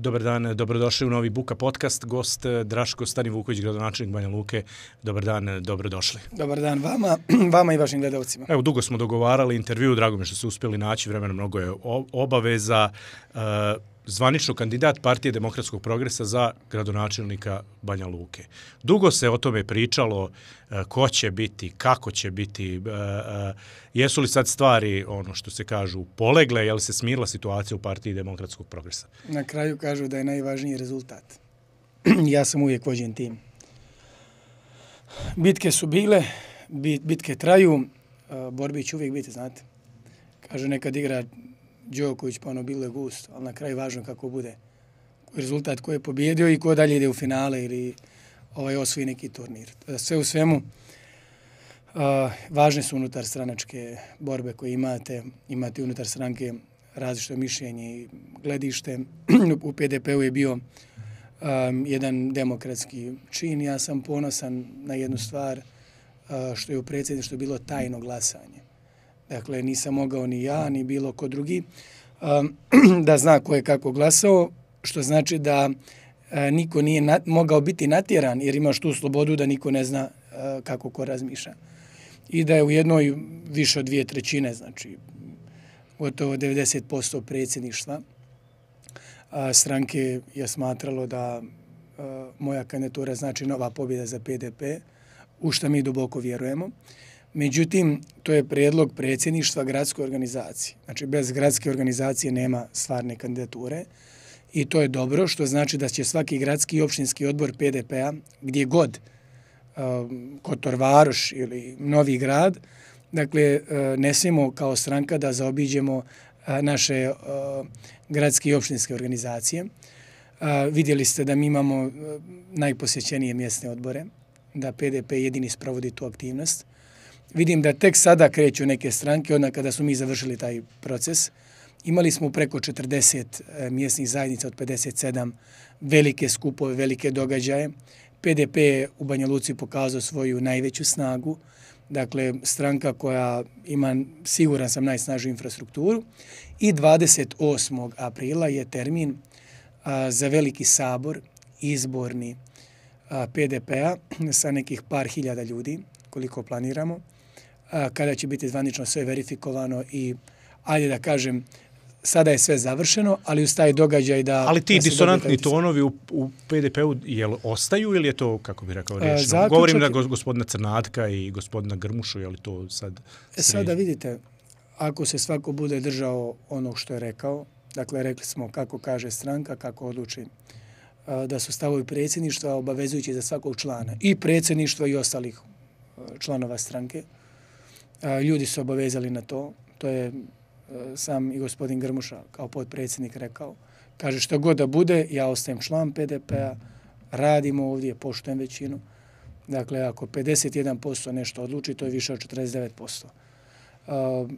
Dobar dan, dobrodošli u novi Buka podcast. Gost Draško Stanivuković, gradonačelnik Banja Luke. Dobar dan, dobrodošli. Dobar dan vama i vašim gledalcima. Evo, dugo smo dogovarali intervju, drago mi što ste uspjeli naći, vremena mnogo je obaveza. Zvanično kandidat Partije demokratskog progresa za gradonačelnika Banja Luke. Dugo se o tome pričalo, ko će biti, kako će biti, jesu li sad stvari, ono što se kažu, polegle, je li se smirila situacija u Partiji demokratskog progresa? Na kraju kažu da je najvažniji rezultat. Ja sam uvijek vođen tim. Bitke su bile, bitke traju, borbi će uvijek biti, znate. Kažu nekad igra Đoković, pa ono bilo je gusto, ali na kraju važno kako bude. Rezultat ko je pobjedio i ko dalje ide u finale ili osvoji neki turnir. Sve u svemu, važne su unutar stranačke borbe koje imate unutar stranke različito mišljenje i gledište. U PDP-u je bio jedan demokratski čin. Ja sam ponosan na jednu stvar što je u predsjedništvu bilo tajno glasanje. Dakle, nisam mogao ni ja, ni bilo ko drugi da zna ko je kako glasao, što znači da niko nije mogao biti natjeran jer imaš tu slobodu da niko ne zna kako ko razmišlja. I da je u jednoj više od 2/3, znači gotovo 90% predsjedništva stranke je smatralo da moja kandidatura znači nova pobjeda za PDP, u što mi duboko vjerujemo. Međutim, to je prijedlog predsjedništva gradske organizacije. Znači, bez gradske organizacije nema stvarne kandidature i to je dobro, što znači da će svaki gradski i opštinski odbor PDP-a, gdje god, Kotor Varoš ili Novi Grad, dakle, ne smijemo kao stranka da zaobiđemo naše gradske i opštinske organizacije. Vidjeli ste da mi imamo najposjećenije mjesne odbore, da PDP jedini sprovodi tu aktivnost. Vidim da tek sada kreću neke stranke, onda kada smo mi završili taj proces. Imali smo preko 40 mjesnih zajednica od 57, velike skupove, velike događaje. PDP je u Banja Luci pokazao svoju najveću snagu, dakle stranka koja ima, siguran sam, najsnažniju infrastrukturu. I 28. aprila je termin za veliki sabor izborni PDP-a sa nekih par hiljada ljudi, koliko planiramo, kada će biti zvanično sve verifikovano i, ajde da kažem, sada je sve završeno, ali uz taj događaj da... Ali ti disonantni tonovi u PDP-u ostaju ili je to, kako bih rekao, rješeno? Govorim na gospodina Crnatka i gospodina Grmušu, je li to sad... Sada vidite, ako se svako bude držao onog što je rekao, dakle, rekli smo kako kaže stranka, kako odluči da su stavovi predsjedništva obavezujući za svakog člana, i predsjedništva i ostalih članova stranke. Ljudi su obavezali na to. To je sam i gospodin Grmuša kao potpredsjednik rekao. Kaže, što god da bude, ja ostajem član PDP-a, radimo ovdje, poštujem većinu. Dakle, ako 51% nešto odluči, to je više od 49%.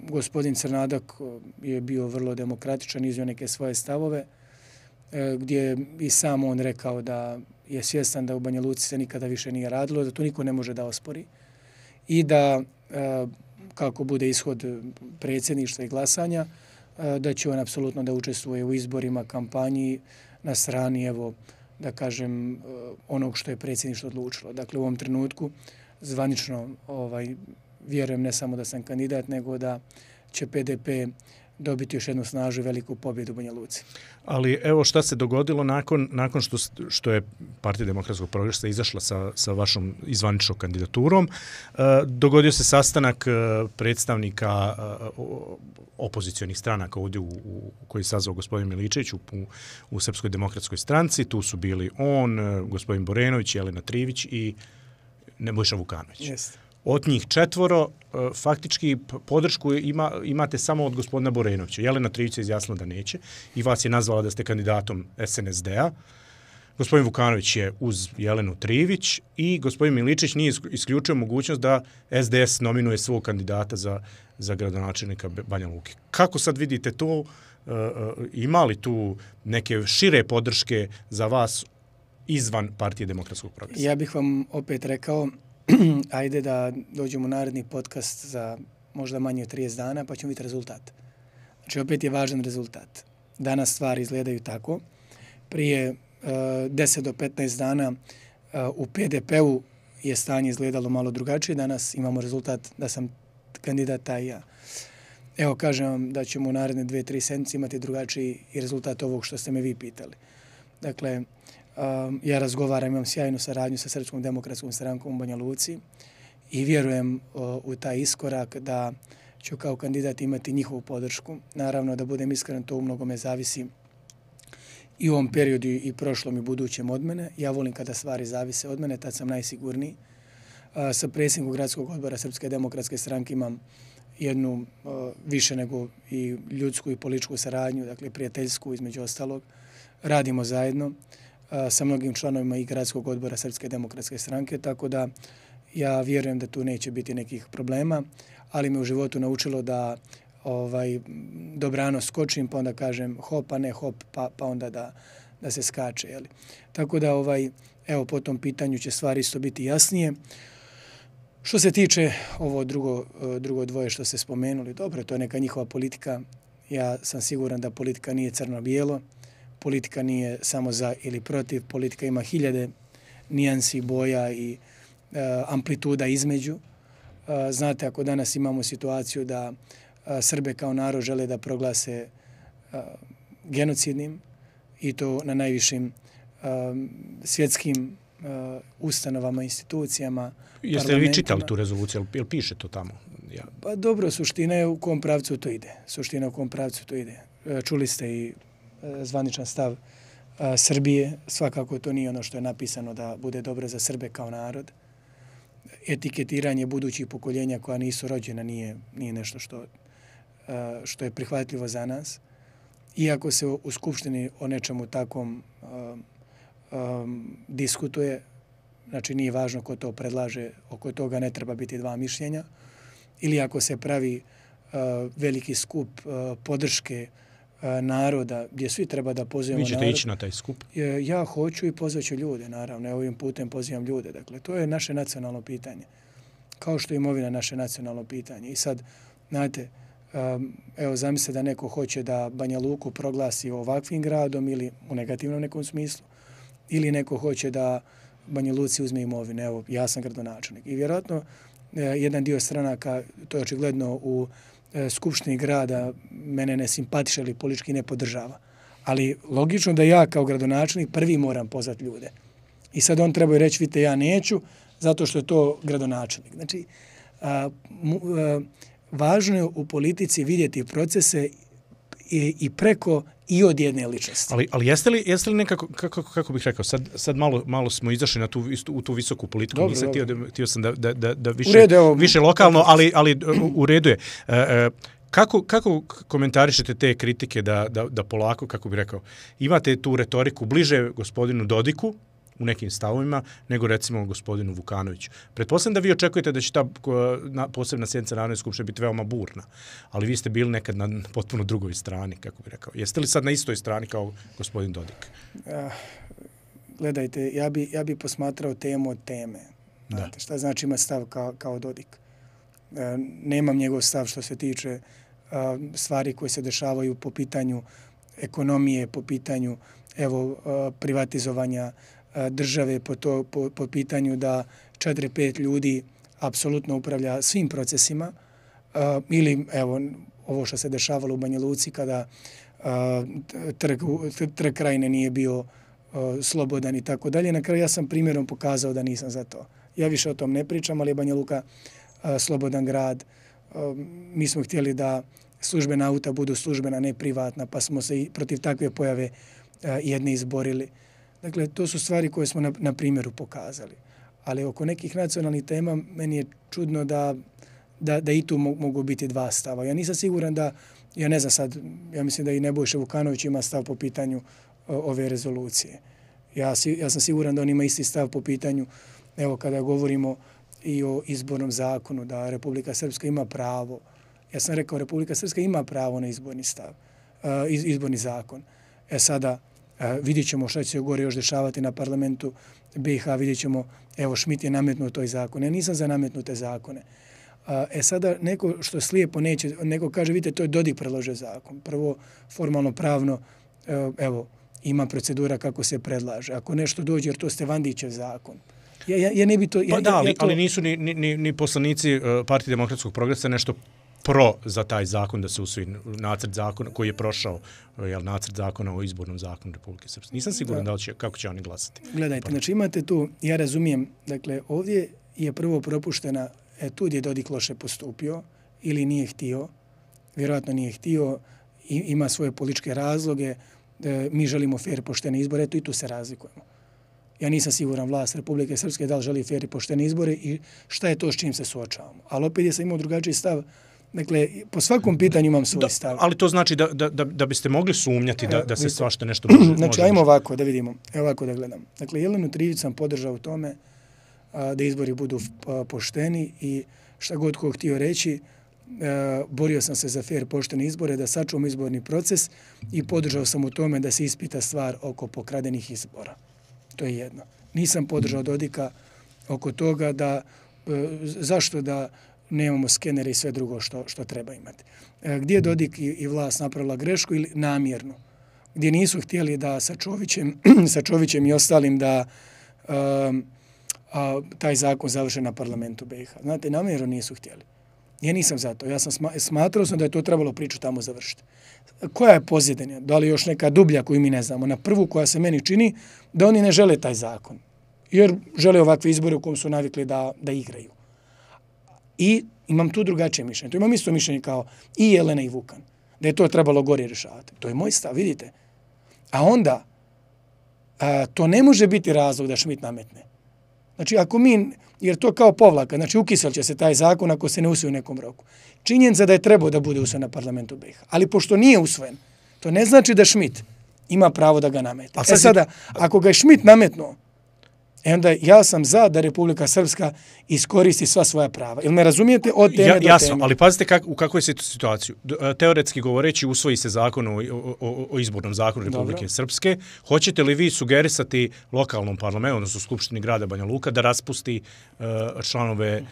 Gospodin Crnadak je bio vrlo demokratičan, iznio neke svoje stavove, gdje je i sam on rekao da je svjestan da u Banja Luci se nikada više nije radilo, da to niko ne može da ospori i da kako bude ishod predsjedništva i glasanja, da će on apsolutno da učestvuje u izborima, kampanji na strani, evo, da kažem, onog što je predsjedništvo odlučilo. Dakle, u ovom trenutku zvanično vjerujem ne samo da sam kandidat, nego da će PDP dobiti još jednu snažnu i veliku pobjedu u Banja Luci. Ali evo šta se dogodilo nakon što je Partija demokratskog progresa izašla sa vašom izvaničnom kandidaturom. Dogodio se sastanak predstavnika opozicionih stranaka ovdje koji je sazvao gospodin Miličević u Srpskoj demokratskoj stranci. Tu su bili on, gospodin Borenović, Jelena Trivić i Nebojša Vukanović. Jeste. Od njih 4 faktički podršku imate samo od gospodina Borenovića. Jelena Trivić je izjasnila da neće i vas je nazvala da ste kandidatom SNSD-a. Gospodin Vukanović je uz Jelenu Trivić i gospodin Miličić nije isključio mogućnost da SDS nominuje svog kandidata za gradonačelnika Banja Luke. Kako sad vidite to? Ima li tu neke šire podrške za vas izvan Partije demokratskog progresa? Ja bih vam opet rekao, ajde da dođemo u naredni podcast za možda manje od 30 dana, pa ćemo vidjeti rezultat. Znači, opet je važan rezultat. Danas stvari izgledaju tako prije 10 do 15 dana u PDP-u je stanje izgledalo malo drugačije. Danas imamo rezultat da sam kandidat taj ja. Evo, kažem vam da ćemo u naredne 2-3 sedmice imati drugačiji i rezultat ovog što ste me vi pitali. Dakle, ja razgovaram, imam sjajnu saradnju sa Srpskom demokratskom strankom u Banja Luci i vjerujem u taj iskorak da ću kao kandidat imati njihovu podršku. Naravno, da budem iskren, to u mnogome zavisi i u ovom periodu i prošlom i budućem od mene. Ja volim kada stvari zavise od mene, tad sam najsigurniji. Sa predsjednikom gradskog odbora Srpske demokratske stranke imam jednu više nego i ljudsku i političku saradnju, dakle prijateljsku između ostalog. Radimo zajedno sa mnogim članovima i gradskog odbora Srpske demokratske stranke, tako da ja vjerujem da tu neće biti nekih problema, ali me u životu naučilo da dobrano skočim, pa onda kažem hop, a ne hop, pa onda da se skače. Jeli. Tako da evo po tom pitanju će stvari isto biti jasnije. Što se tiče ovo drugo dvoje što ste spomenuli, dobro, to je neka njihova politika. Ja sam siguran da politika nije crno-bijelo, politika nije samo za ili protiv, politika ima hiljade nijansi, boja i amplituda između. Znate, ako danas imamo situaciju da Srbe kao narod žele da proglase genocidnim i to na najvišim svjetskim ustanovama, institucijama, Jeste li vi čitali tu rezoluciju, jel piše to tamo? Ja. Pa dobro, suština je u kom pravcu to ide. Čuli ste i zvaničan stav Srbije. Svakako to nije ono što je napisano da bude dobro za Srbe kao narod. Etiketiranje budućih pokoljenja koja nisu rođena nije nešto što je prihvatljivo za nas. Iako se u Skupštini o nečemu takvom diskutuje, znači nije važno ko to predlaže, oko toga ne treba biti dva mišljenja, ili ako se pravi veliki skup podrške naroda gdje svi treba da pozivamo narod. Vi ćete ići na taj skup? Ja hoću i pozvaću ljude, naravno. Ja ovim putem pozivam ljude. Dakle, to je naše nacionalno pitanje. Kao što je imovina naše nacionalno pitanje. I sad, znate, evo zamislite da neko hoće da Banja Luku proglasi ovakvim gradom ili u negativnom nekom smislu, ili neko hoće da Banja Luci uzme imovine. Evo, ja sam gradonačelnik. I vjerojatno jedan dio stranaka, to je očigledno u Skupštini grada, mene ne simpatiše ili politički ne podržava. Ali logično da ja kao gradonačelnik prvi moram pozvati ljude. I sad on treba reći, vidite, ja neću, zato što je to gradonačelnik. Znači, važno je u politici vidjeti procese i preko i od jedne ličnosti. Ali jeste li nekako, kako bih rekao, sad malo smo izašli na u tu visoku politiku, dobro, nisam htio sam da više redu, lokalno, ali u redu je. Kako komentarišete te kritike da polako, kako bih rekao, imate tu retoriku bliže gospodinu Dodiku u nekim stavovima, nego recimo gospodinu Vukanoviću. Pretpostavljam da vi očekujete da će ta posebna sjednica Narodne skupštine biti veoma burna, ali vi ste bili nekad na potpuno drugoj strani, kako bih rekao. Jeste li sad na istoj strani kao gospodin Dodik? Gledajte, ja bi posmatrao temu od teme. Znate, šta znači ima stav kao Dodik? Nemam njegov stav što se tiče stvari koje se dešavaju po pitanju ekonomije, po pitanju privatizovanja države, po pitanju da 4-5 ljudi apsolutno upravlja svim procesima, ili evo ovo što se dešavalo u Banja Luci kada trg Krajine nije bio slobodan i tako dalje. Na kraju ja sam primjerom pokazao da nisam za to. Ja više o tom ne pričam, ali je Banja Luka slobodan grad. Mi smo htjeli da službena auta budu službena, ne privatna, pa smo se i protiv takve pojave jedne izborili. Dakle, to su stvari koje smo na primjeru pokazali. Ali oko nekih nacionalnih tema meni je čudno da i tu mogu biti dva stava. Ja nisam siguran ja ne znam sad, ja mislim da i Nebojša Vukanović ima stav po pitanju ove rezolucije. Ja sam siguran da on ima isti stav po pitanju, evo kada govorimo i o izbornom zakonu, da Republika Srpska ima pravo. Ja sam rekao, Republika Srpska ima pravo na izborni zakon. Sada vidjet ćemo šta će se gore još dešavati na parlamentu BiH, vidjet ćemo, evo Šmit je nametnuo toj zakon. Ja nisam za nametnute zakone. Sada neko što slijepo neće, neko kaže, vidite, to je Dodik predložio zakon. Prvo, formalno pravno, evo, ima procedura kako se predlaže. Ako nešto dođe, jer to ste Vandićev zakon. Ja ne bi to... Pa da, ali nisu ni poslanici Partije demokratskog progresa nešto za taj zakon da se usvoji nacrt zakona koji je prošao, nacrt zakona o izbornom zakonu Republike Srpske. Nisam siguran kako će oni glasati. Gledajte, znači imate tu, ja razumijem, dakle, ovdje je prvo propuštena, tu je Dodik loše postupio ili nije htio, vjerojatno nije htio, ima svoje političke razloge, mi želimo fair poštene izbore, eto i tu se razlikujemo. Ja nisam siguran vlast Republike Srpske da li želi fair i poštene izbore i šta je to s čim se suočavamo. Ali opet je sam imao drugačiji stav. Dakle, po svakom pitanju imam svoj stav. Ali to znači da biste mogli sumnjati da se svašta nešto može... Znači, ajmo ovako da vidimo, ovako da gledam. Dakle, Jelenu Trivić sam podržao u tome da izbori budu pošteni i šta god ko htio reći, borio sam se za fair poštene izbore, da sačuvam izborni proces i podržao sam u tome da se ispita stvar oko pokradenih izbora. To je jedno. Nisam podržao Dodika oko toga da zašto da nemamo skenere i sve drugo što treba imati. Gdje je Dodik i vlast napravila grešku ili namjerno? Gdje nisu htjeli da sa Čovićem i ostalim da taj zakon završe na parlamentu BiH. Znate, namjerno nisu htjeli. Ja nisam za to. Ja sam smatrao da je to trebalo priču tamo završiti. Koja je pozadina? Da li još neka dublja koju mi ne znamo? Na prvu koja se meni čini da oni ne žele taj zakon. Jer žele ovakve izbore u kom su navikli da igraju. I imam tu drugačije mišljenje. To imam isto mišljenje kao i Jelena i Vukan. Da je to trebalo gore rješavati. To je moj stav, vidite. A onda to ne može biti razlog da Schmidt nametne. Znači, ako mi, jer to kao povlaka, znači ukisel će se taj zakon ako se ne usvoji u nekom roku. Činjenica da je trebao da bude usvojen na parlamentu BiH. Ali pošto nije usvojen, to ne znači da Schmidt ima pravo da ga namete. Sada, ako ga je Schmidt nametnuo, onda ja sam za da Republika Srpska iskoristi sva svoja prava. Ili me razumijete od teme do teme? Jasno, ali pazite u kakvoj je situaciju. Teoretski govoreći, usvoji se zakon o izbornom zakonu Republike Srpske. Hoćete li vi sugerisati lokalnom parlamentu, odnosno Skupštini grada Banja Luka, da raspusti članove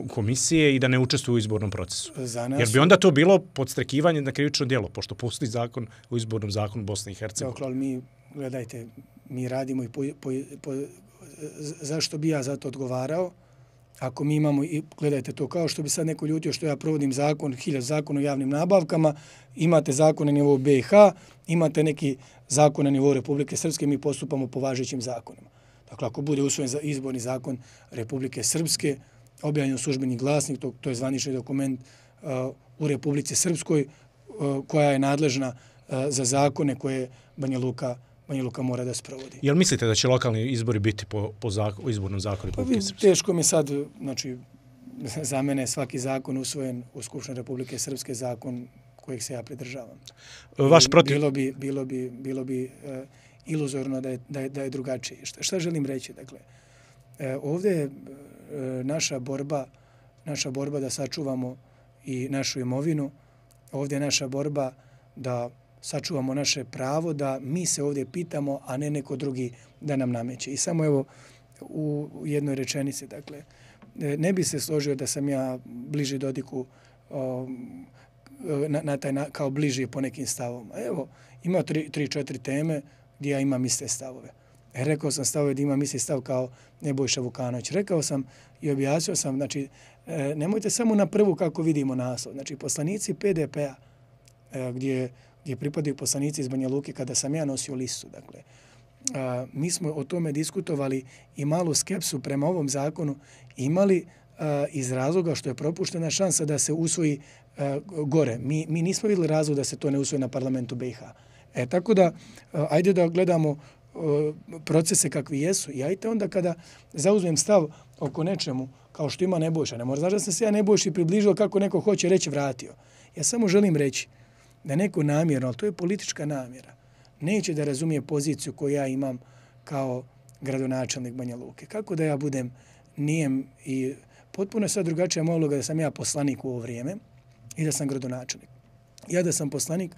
komisije i da ne učestvuju u izbornom procesu? Jer bi onda to bilo podstrekivanje na krivično djelo, pošto postoji zakon o izbornom zakonu Bosne i Hercegovine. Dakle, ali mi, gledajte, mi radimo i zašto bi ja za to odgovarao? Ako mi imamo, i gledajte to, kao što bi sad neko ljutio što ja provodim zakon o javnim nabavkama, imate zakon na nivou BiH, imate neki zakon na nivou Republike Srpske, mi postupamo po važećim zakonima. Dakle, ako bude usvojen izborni zakon Republike Srpske, objavljen u službeni glasnik, to je zvanični dokument u Republici Srpskoj, koja je nadležna za zakone koje Banja Luka mora da sprovodi. Jel mislite da će lokalni izbori biti po izbornom zakonu Republike Srpske? Teško mi sad, znači, za mene svaki zakon usvojen u Skupštini Republike Srpske, zakon kojeg se ja pridržavam. Bilo bi iluzorno da je drugačije. Šta želim reći? Dakle, ovdje je naša borba da sačuvamo i našu imovinu. Ovdje je naša borba da sačuvamo naše pravo, da mi se ovdje pitamo, a ne neko drugi da nam nameće. I samo evo u jednoj rečenici, dakle, ne bi se složio da sam ja bliži Dodiku kao bliži po nekim stavovima. Evo, ima 3-4 teme gdje ja imam iste stavove. Rekao sam stavove gdje imam isti stav kao Nebojša Vukanović. Rekao sam i objasnio sam, znači, nemojte samo na prvu kako vidimo naslov. Znači, poslanici PDP-a, gdje pripadaju poslanici iz Banja Luke kada sam ja nosio listu. Dakle, mi smo o tome diskutovali i malu skepsu prema ovom zakonu imali iz razloga što je propuštena šansa da se usvoji gore. Mi nismo vidjeli razlog da se to ne usvoji na parlamentu BiH. Tako da, ajde da gledamo procese kakvi jesu i ajte onda kada zauzmem stav oko nečemu, kao što ima Nebojša. Ne mora znaš da sam se ja Nebojši približio kako neko hoće reći vratio. Ja samo želim reći da neko namjerno, ali to je politička namjera, neće da razumije poziciju koju ja imam kao gradonačelnik Banja Luke. Kako da ja budem nijem i potpuno je sad drugačija moja uloga da sam ja poslanik u ovo vrijeme i da sam gradonačelnik. Ja da sam poslanik,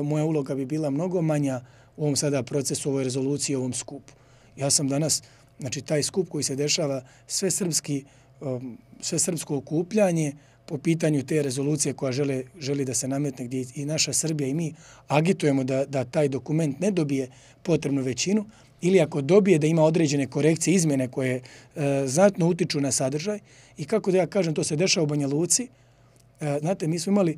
moja uloga bi bila mnogo manja u ovom sada procesu, ovoj rezoluciji, ovom skupu. Ja sam danas, znači taj skup koji se dešava, sve srpsko okupljanje po pitanju te rezolucije koja želi da se nametne, gdje i naša Srbija i mi agitujemo da taj dokument ne dobije potrebnu većinu, ili ako dobije da ima određene korekcije, izmjene koje znatno utiču na sadržaj. I kako da ja kažem, to se dešava u Banja Luci. Znate, mi smo imali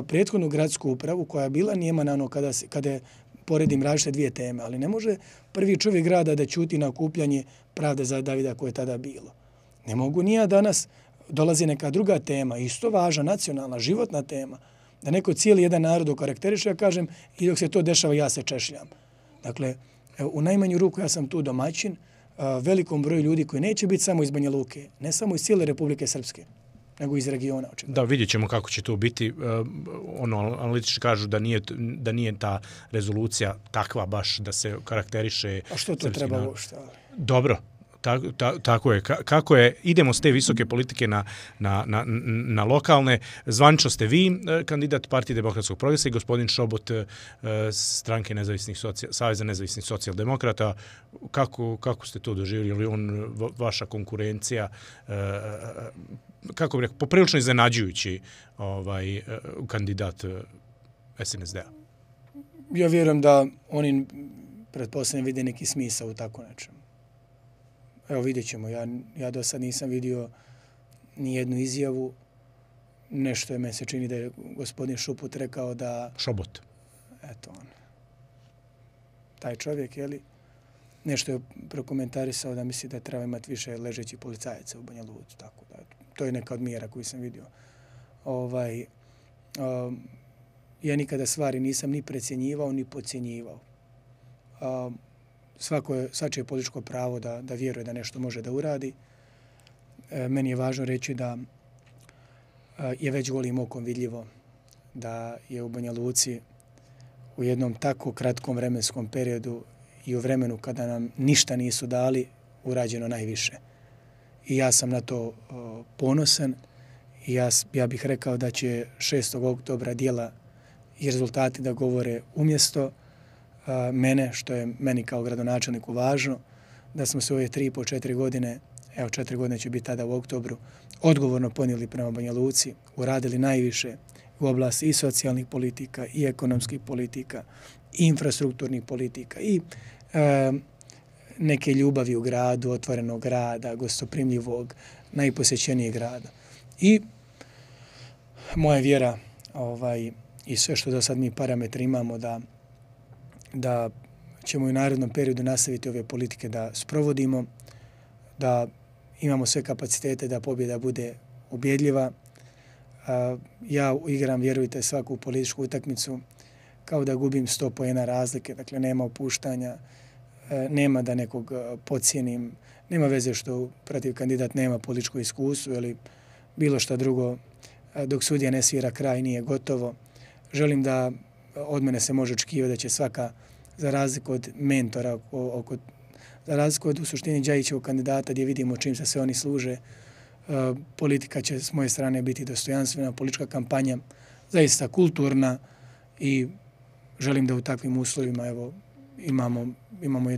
prethodnu gradsku upravu koja je bila nijema na ono kada je poredim različite dvije teme, ali ne može prvi čovjek grada da ćuti na okupljanje pravde za Davida koje je tada bilo. Ne mogu ni ja danas, dolazi neka druga tema, isto važna, nacionalna, životna tema, da neko cijeli jedan narod okarakteriše, ja kažem, i dok se to dešava, ja se češljam. Dakle, u najmanju ruku ja sam tu domaćin, velikom broju ljudi koji neće biti samo iz Banja Luke, ne samo iz cijele Republike Srpske, nego iz regiona. Da, vidjet ćemo kako će to biti. Analitički kažu da nije ta rezolucija takva baš da se karakteriše. A što to treba uopšte? Dobro. Tako je. Kako je, idemo s te visoke politike na lokalne. Zvanično ste vi kandidat Partije demokratskog progresa i gospodin Šobot stranke Saveza nezavisnih socijaldemokrata. Kako ste to doživjeli? Je li on vaša konkurencija? Kako bih rekao, poprilično iznenađujući kandidat SNSD-a? Ja vjerujem da oni pretpostavljam vide neki smisao u tako nečem. Evo, vidjet ćemo. Ja do sad nisam vidio ni jednu izjavu. Nešto je, me se čini da je gospodin Šuput rekao da... Šobot. Eto on. Taj čovjek, jeli, nešto je prokomentarisao da misli da treba imati više ležećih policajaca u Banja Luci. Tako da, to je neka od mjera koju sam vidio. Ja nikada stvari nisam ni precjenjivao, ni podcjenjivao. Svačije političko pravo da vjeruje da nešto može da uradi. Meni je važno reći da je već golim okom vidljivo da je u Banja Luci u jednom tako kratkom vremenskom periodu i u vremenu kada nam ništa nisu dali urađeno najviše. I ja sam na to ponosan i ja bih rekao da će 6. oktobra djela i rezultati da govore umjesto mene, što je meni kao gradonačelniku važno, da smo se ove 3,5-4 godine, evo 4 godine će biti tada u oktobru, odgovorno ponijeli prema Banja Luci, uradili najviše u oblasti i socijalnih politika, i ekonomskih politika, i infrastrukturnih politika, i neke ljubavi u gradu, otvorenog grada, gostoprimljivog, najposjećenijeg grada. I moja vjera i sve što do sad mi parametri imamo da ćemo u narednom periodu nastaviti ove politike da sprovodimo, da imamo sve kapacitete da pobjeda bude ubjedljiva. Ja igram, vjerujte, svaku političku utakmicu kao da gubim 100 poena razlike, dakle nema opuštanja, nema da nekog podcijenim, nema veze što protiv kandidat nema političko iskustvo ili bilo što drugo, dok sudija ne svira kraj nije gotovo. Želim da od mene se može očekivati da će svaka, za razliku od mentora, za razliku od u suštini Đajićevog kandidata gdje vidimo čim se sve oni služe, politika će s moje strane biti dostojanstvena, politička kampanja zaista kulturna i želim da u takvim uslovima imamo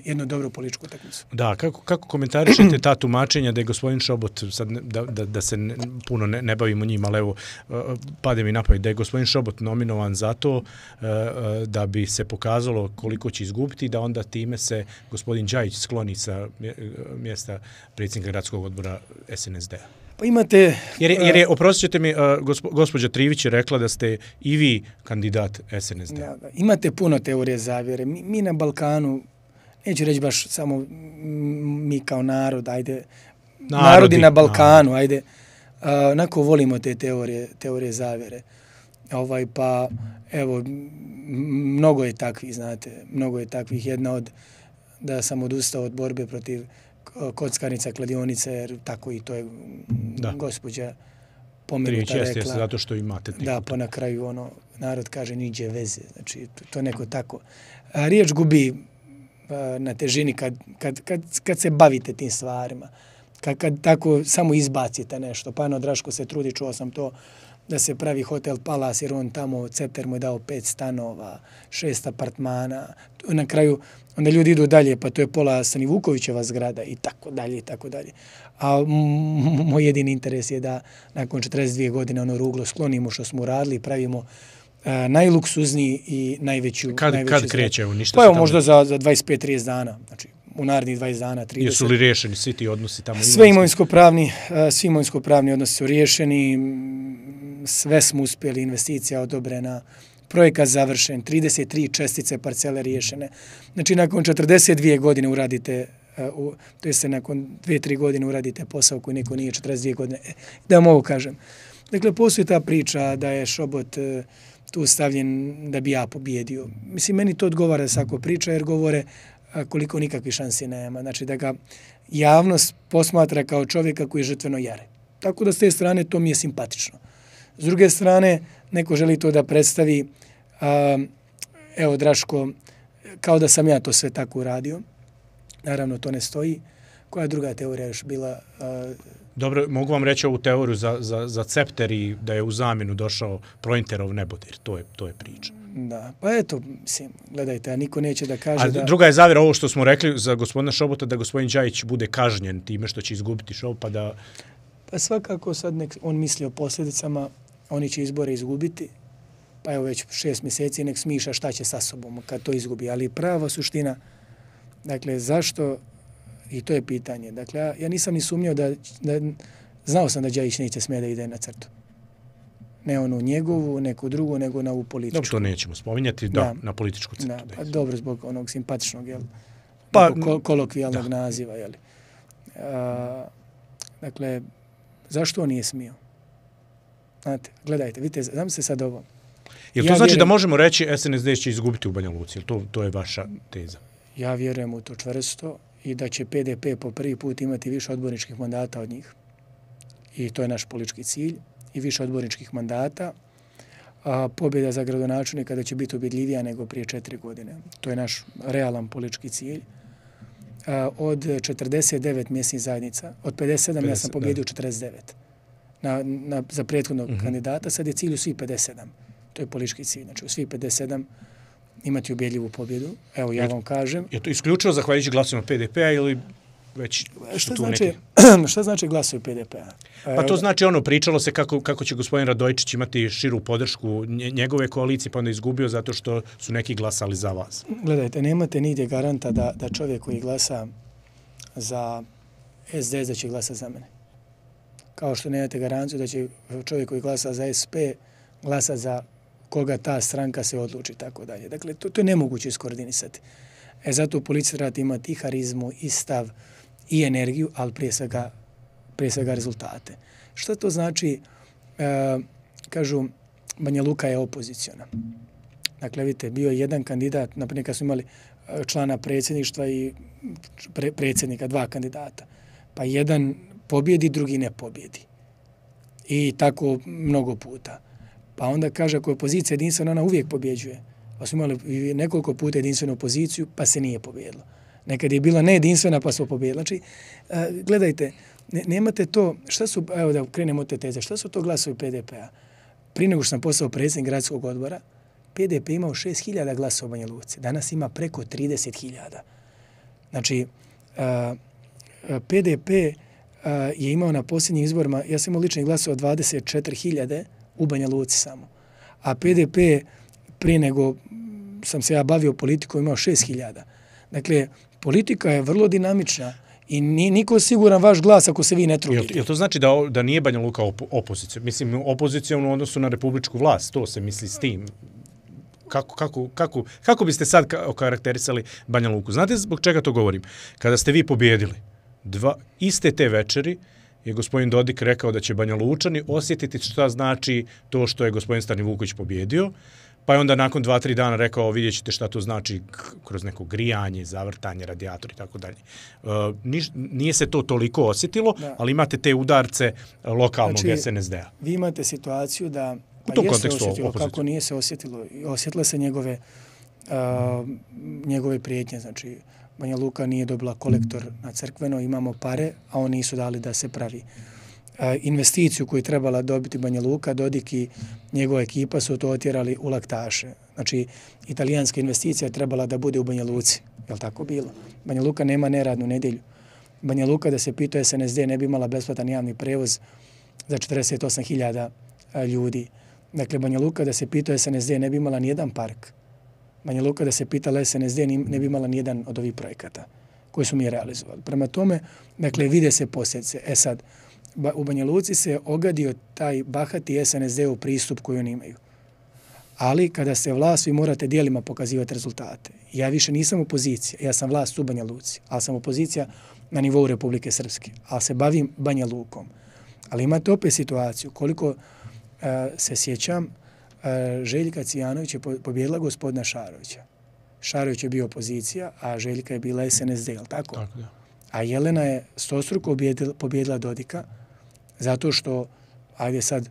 jednu dobru političku utakmicu. Da, kako komentarišete ta tumačenja da je gospodin Šobot, sad da se puno ne bavimo njim, ali evo, pade mi na pamet, da je gospodin Šobot nominovan zato da bi se pokazalo koliko će izgubiti, da onda time se gospodin Đajić skloni sa mjesta predsjednika gradskog odbora SNSD-a. Pa imate... Jer je, oprostit ćete mi, gospođa Trivić je rekla da ste i vi kandidat SNSD. Da. Imate puno teorije zavjere. Mi na Balkanu, neću reći baš samo mi kao narod, ajde, narodi na Balkanu, ajde, onako volimo te teorije zavjere. Pa, evo, mnogo je takvih, znate, mnogo je takvih. Jedna od, da sam odustao od borbe protiv kockarnica, kladionice, jer tako i to je gospođa pomenuta rekla. Jeste, zato što imate tipu. Da, pa na kraju narod kaže niđe veze. Znači, to neko tako. Riječ gubi na težini kad se bavite tim stvarima. Kad tako samo izbacite nešto. Pa Draško se trudi, čuo sam to, da se pravi hotel Palace, jer on tamo, Cepter mu je dao 5 stanova, 6 apartmana. Na kraju, onda ljudi idu dalje, pa to je pola Sani Vukovićeva zgrada i tako dalje, i tako dalje. A moj jedini interes je da nakon 42 godine ono ruglo sklonimo što smo uradili, pravimo najluksuzniji i najveću... Kad kreće? Ništa pa evo, možda za 25-30 dana. Znači, u narednih 20 dana, 30. Jesu li riješeni svi ti odnosi tamo? Svi imovinsko-pravni odnosi su riješeni, sve smo uspjeli, investicija odobrena, projekat završen, 33 čestice parcele riješene. Znači, nakon 42 godine uradite, to je se nakon 2-3 godine uradite posao koji neko nije 42 godine. Da vam ovo kažem. Dakle, postoji ta priča da je Šobot tu stavljen da bi ja pobjedio. Mislim, meni to odgovara svako priča jer govore koliko nikakve šanse nema. Znači, da ga javnost posmatra kao čovjeka koji je žrtveno jare. Tako da s te strane to mi je simpatično. S druge strane, neko želi to da predstavi, evo Draško, kao da sam ja to sve tako uradio. Naravno, to ne stoji. Koja druga teorija još bila? Dobro, mogu vam reći ovu teoriju za Cepter i da je u zamjenu došao Projnterov nebodir. To je priča. Da, pa eto, mislim, gledajte, a niko neće da kaže da... Druga je zavjera ovo što smo rekli za gospodina Šobota, da gospodin Đajić bude kažnjen time što će izgubiti šov, pa da... Pa svakako sad nek on misli o posljedicama, oni će izbore izgubiti, pa evo već 6 mjeseci nek smišlja šta će sa sobom kad to izgubi. Ali prava suština, dakle, zašto, i to je pitanje, dakle, ja nisam ni sumnjao da znao sam da Đajić neće smjeti da ide na crtu. Ne onu njegovu, neku drugu, nego na ovu političku. Dobro, to nećemo spominjati, da, na političku crtu. Da, pa dobro, zbog onog simpatičnog, pa, kolokvijalnog naziva, jel? Dakle, zašto on nije smio? Znate, gledajte, vidite, znam se sad ovo. Jel to znači da možemo reći SNSD će izgubiti u Banja Luci? To je vaša teza? Ja vjerujem u to čvrsto i da će PDP po prvi put imati više odborničkih mandata od njih. I to je naš politički cilj. I više odborničkih mandata. Pobjeda za gradonačelnika da će biti ubjedljivija nego prije 4 godine. To je naš realan politički cilj. Od 49 mjesnih zajednica, od 57 ja sam pobjedio 49 za prethodnog kandidata, sad je cilj u svih 57. To je politički cilj. Znači u svih 57 imati ubjedljivu pobjedu. Evo ja vam kažem. Je to isključivo zahvaljujući glasovima PDP-a ili već Šta znači glasovi PDP-a? Pa to znači pričalo se kako će gospodin Radojčić imati širu podršku njegove koalicije, pa onda izgubio zato što su neki glasali za vas. Gledajte, nemate nigdje garanta da čovjek koji glasa za SDS da će glasa za mene. Kao što nemate garanciju da će čovjek koji glasa za SP glasa za koga ta stranka se odluči, tako dalje. Dakle, to je nemoguće iskoordinisati. Zato u policiji treba imati i harizmu, i stav, i energiju, ali prije svega rezultate. Šta to znači? Kažu, Banja Luka je opoziciona. Dakle, vidite, bio je jedan kandidat, naprimjer kad smo imali člana predsjedništva i predsjednika, 2 kandidata. Pa jedan pobjedi, drugi ne pobjedi. I tako mnogo puta. Pa onda kaže, ako je opozicija jedinstvena, ona uvijek pobjeđuje. Pa smo imali nekoliko puta jedinstvenu opoziciju, pa se nije pobjedilo. Nekad je bila nejedinstvena, pa smo pobjedili. Znači, gledajte, nemate to, šta su, evo da krenemo od te teze, šta su to glasovi PDP-a? Prije nego što sam postao predsjednik gradskog odbora, PDP imao 6.000 glasova u Banja Luci. Danas ima preko 30.000. Znači, PDP je imao na posljednjim izborima, ja sam imao ličnih glasova 24.000 u Banja Luci samo. A PDP prije nego sam se ja bavio politikom imao 6.000. Dakle, politika je vrlo dinamična i niko siguran vaš glas ako se vi ne trudite. Jel to znači da nije Banja Luka opozicija? Mislim, opozicijom u odnosu na republičku vlast, to se misli s tim. Kako biste sad okarakterisali Banja Luku? Znate zbog čega to govorim? Kada ste vi pobjedili, iste te večeri je gospodin Dodik rekao da će Banja Lučani osjetiti šta znači to što je gospodin Stani Vuković pobjedio, pa je onda nakon 2-3 dana rekao vidjet ćete šta to znači kroz neko grijanje, zavrtanje, radijator i tako dalje. Nije se to toliko osjetilo, ali imate te udarce lokalnog SNSD-a. Vi imate situaciju da u tom kontekstu osjetilo, kako nije se osjetilo. Osjetile se njegove prijetnje. Znači, Banja Luka nije dobila kolektor na Crkveno, imamo pare, a oni nisu dali da se pravi. investiciju koju je trebala dobiti Banja Luka, Dodik i njegova ekipa su to otjerali u laktaše. Znači, italijanska investicija je trebala da bude u Banja Luci. Je li tako bilo? Banja Luka nema neradnu nedjelju. Banja Luka, da se pitao SNSD, ne bi imala besplatan javni prevoz za 48.000 ljudi. Dakle, Banja Luka, da se pitao SNSD, ne bi imala nijedan park. Banja Luka, da se pitala SNSD, ne bi imala nijedan od ovih projekata koji su mi realizovali. Prema tome, dakle, vide se posljedice. Sad, u Banja Luci se ogadio taj bahati SNSD-u pristup koji oni imaju. Ali kada ste vlast, vi morate dijelima pokazivati rezultate. Ja više nisam opozicija, ja sam vlast u Banja Luci, ali sam opozicija na nivou Republike Srpske, ali se bavim Banja Lukom. Ali imate opet situaciju, koliko se sjećam, Željka Cijanović je pobjedila gospodina Šarovića. Šarović je bio opozicija, a Željka je bila SNSD, je li tako? Tako da. A Jelena je stostruko pobjedila Dodika, zato što, ajde sad,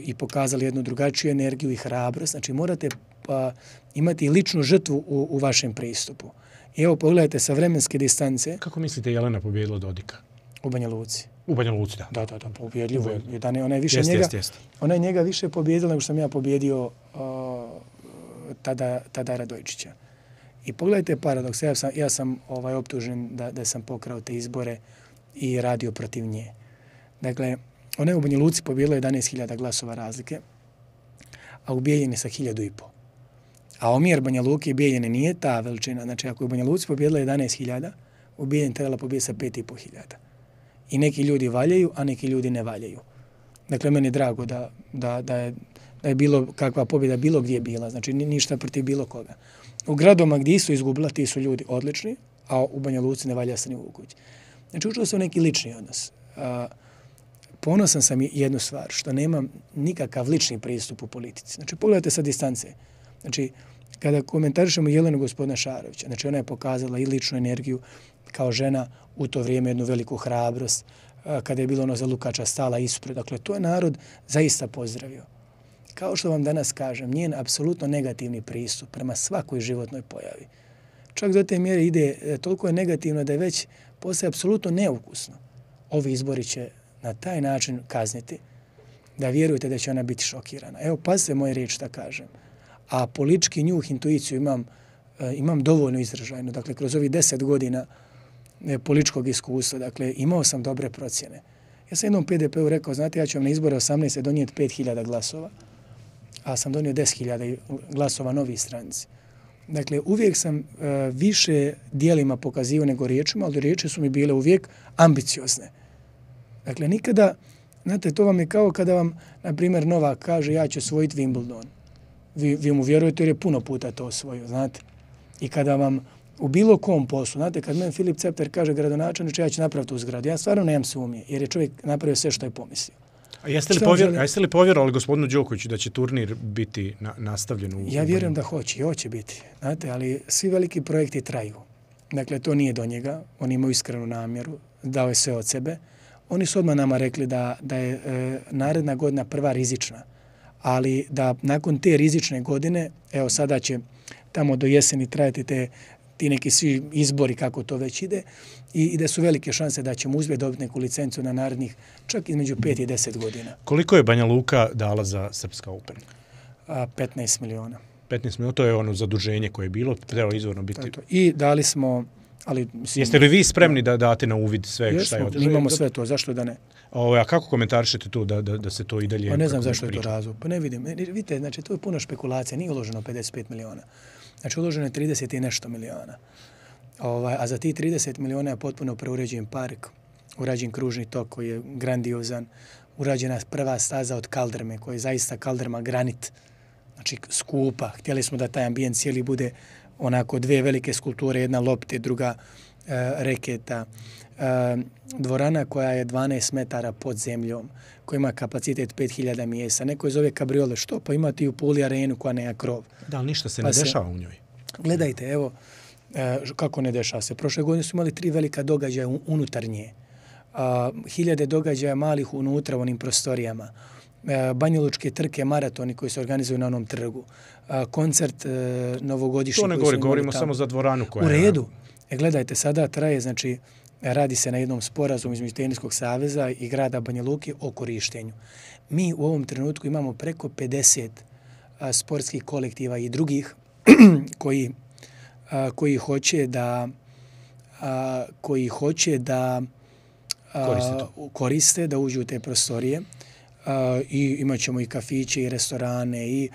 i pokazali jednu drugačiju energiju i hrabrost. Znači, morate imati ličnu žrtvu u vašem pristupu. I evo, pogledajte sa vremenske distance. Kako mislite Jelena pobjedila Dodika? U Banja Luci. U Banja Luci, da. Da, pobjedljivo. Ona je više njega, ona je njega više pobjedila nego što sam ja pobjedio tada Radojčića. I pogledajte paradoks. Ja sam optužen da sam pokrao te izbore i radio protiv nje. Dakle, ona je u Banja Luci pobjedila 11.000 glasova razlike, a u Bijeljini sa 1.500. A omjer Banja Luke i Bijeljine nije ta veličina. Znači, ako je u Banja Luci pobjedila 11.000, u Bijeljini trebala pobjediti sa 5.500. I neki ljudi valjaju, a neki ljudi ne valjaju. Dakle, meni je drago da je bilo kakva pobjeda bilo gdje bila. Znači, ništa protiv bilo koga. U gradoma gdje su izgubila, ti su ljudi odlični, a u Banja Luci ne valja se ni Vuković. Znači, učilo se u neki lični odnos. Ponosan sam jednu stvar, što nemam nikakav lični pristup u politici. Znači, pogledajte sa distance. Znači, kada komentarišemo Jelenu gospodina Šarovića, znači ona je pokazala i ličnu energiju kao žena, u to vrijeme jednu veliku hrabrost, kada je bilo ono za Lukača stala ispred. Dakle, to je narod zaista pozdravio. Kao što vam danas kažem, njen apsolutno negativni pristup prema svakoj životnoj pojavi. Čak do te mjere ide, toliko je negativno da je već postaje apsolutno neukusno. Ovi izbori će na taj način kazniti, da vjerujete da će ona biti šokirana. Evo, pazite moje riječi da kažem. A politički njuh, intuiciju imam dovoljno izražajno. Dakle, kroz ovih 10 godina političkog iskustva, dakle, imao sam dobre procjene. Ja sam jednom PDP-u rekao, znate, ja ću vam na izbore 18. donijeti 5.000 glasova, a sam donio 10.000 glasova novi stranici. Dakle, uvijek sam više dijelima pokazivao nego riječima, ali riječi su mi bile uvijek ambiciozne. Dakle, nikada, znate, to vam je kao kada vam, na primjer, Novak kaže ja ću osvojiti Wimbledon. Vi mu vjerujete jer je puno puta to osvojio, znate. I kada vam u bilo kom poslu, znate, kad meni Filip Cepter kaže gradonačelniče, ja ću napraviti tu zgradu, ja stvarno nemam sumnje, jer je čovjek napravio sve što je pomislio. A jeste li povjerovali gospodinu Đokoviću da će turnir biti nastavljen? Ja vjerujem da hoće i hoće biti, znate, ali svi veliki projekti traju. Dakle, to nije do njega, oni imaju iskrenu namjeru, dao je sve od sebe. Oni su odmah nama rekli da je naredna godina prva rizična, ali da nakon te rizične godine, evo sada će tamo do jeseni trajati ti neki svi izbori kako to već ide i da su velike šanse da ćemo uspjeti dobiti neku licencu na narednih čak između 5 i 10 godina. Koliko je Banja Luka dala za Srpska Open? 15 miliona. 15 miliona, to je ono zaduženje koje je bilo, trebalo izvorno biti. I dali smo... Ali, jeste li vi spremni da date na uvid sve šta je održano? Imamo sve to, zašto da ne? A kako komentarišete to da se to i dalje... Pa ne znam zašto je to razlog. Pa ne vidim. Vidite, znači to je puno špekulacija. Nije uloženo 55 miliona. Znači uloženo je 30 i nešto miliona. A za ti 30 miliona je potpuno preuređen park, urađen kružni tok koji je grandiozan, urađena prva staza od kaldrme, koja je zaista kaldrma granit, znači skupa. Htjeli smo da taj ambijent cijeli bude onako dvije velike skulpture, jedna lopte, druga reketa. Dvorana koja je 12 metara pod zemljom, koja ima kapacitet 5000 mjesta. Neko je zove kabriole. Što? Pa imate i u Puli arenu koja nema krov. Da, ali ništa se ne dešava u njoj. Gledajte, evo, kako ne dešava se. Prošle godine su imali 3 velika događaja unutar nje. 1000 događaja malih unutra u onim prostorijama. Banjalučke trke, maratoni koji se organizuju na onom trgu. Koncert novogodišnji. To ne govorimo samo za dvoranu koja je... U redu. Gledajte, sada traje, znači, radi se na jednom sporazumu između Teniskog saveza i grada Banja Luke o korištenju. Mi u ovom trenutku imamo preko 50 sportskih kolektiva i drugih koji hoće da koriste, da uđu u te prostorije i imat ćemo i kafiće i restorane i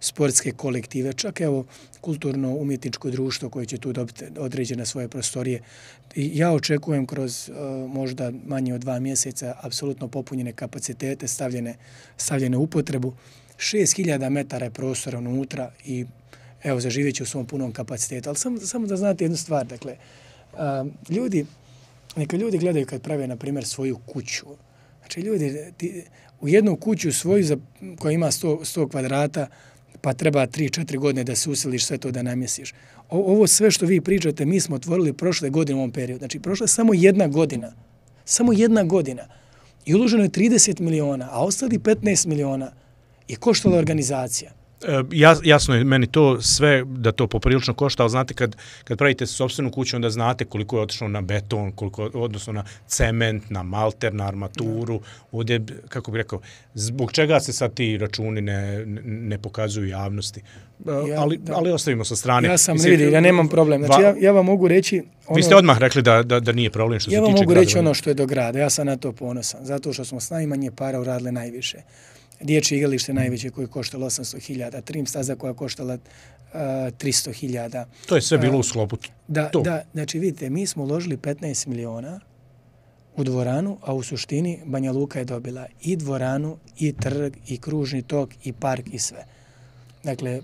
sportske kolektive, čak evo kulturno-umjetničko društvo koje će tu dobiti određene svoje prostorije. I ja očekujem kroz možda manje od 2 mjeseca apsolutno popunjene kapacitete, stavljene u upotrebu. 6000 metara je prostora unutra i evo, zaživjet će u svom punom kapacitetu. Ali samo da znate jednu stvar, dakle, neka ljudi gledaju kad prave, na primjer, svoju kuću. Znači, ljudi, u jednu kuću svoju koja ima 100 kvadrata, pa treba 3-4 godine da se usiliš sve to da namjestiš. Ovo sve što vi pričate, mi smo otvorili prošle godine u ovom periodu. Znači, prošla je samo jedna godina. I uloženo je 30 miliona, a ostali 15 miliona je koštala organizacija. Jasno je meni to sve da to poprilično košta, ali znate kad pravite sopstvenu kuću, onda znate koliko je otišlo na beton, odnosno na cement, na malter, na armaturu. Ovdje, kako bih rekao, zbog čega se sad ti računi ne pokazuju javnosti? Ali ostavimo sa strane. Ja nemam problem. Znači, ja vam mogu reći... Vi ste odmah rekli da nije problem što se tiče grada. Ja vam mogu reći ono što je do grada. Ja sam na to ponosan. Zato što smo s najmanje para uradili najviše. Dječje igralište najveće koje je koštalo 800.000, trim staza koja je koštala 300.000. To je sve bilo u sklopu. Da, znači vidite, mi smo uložili 15 miliona u dvoranu, a u suštini Banja Luka je dobila i dvoranu, i trg, i kružni tok, i park, i sve. Dakle,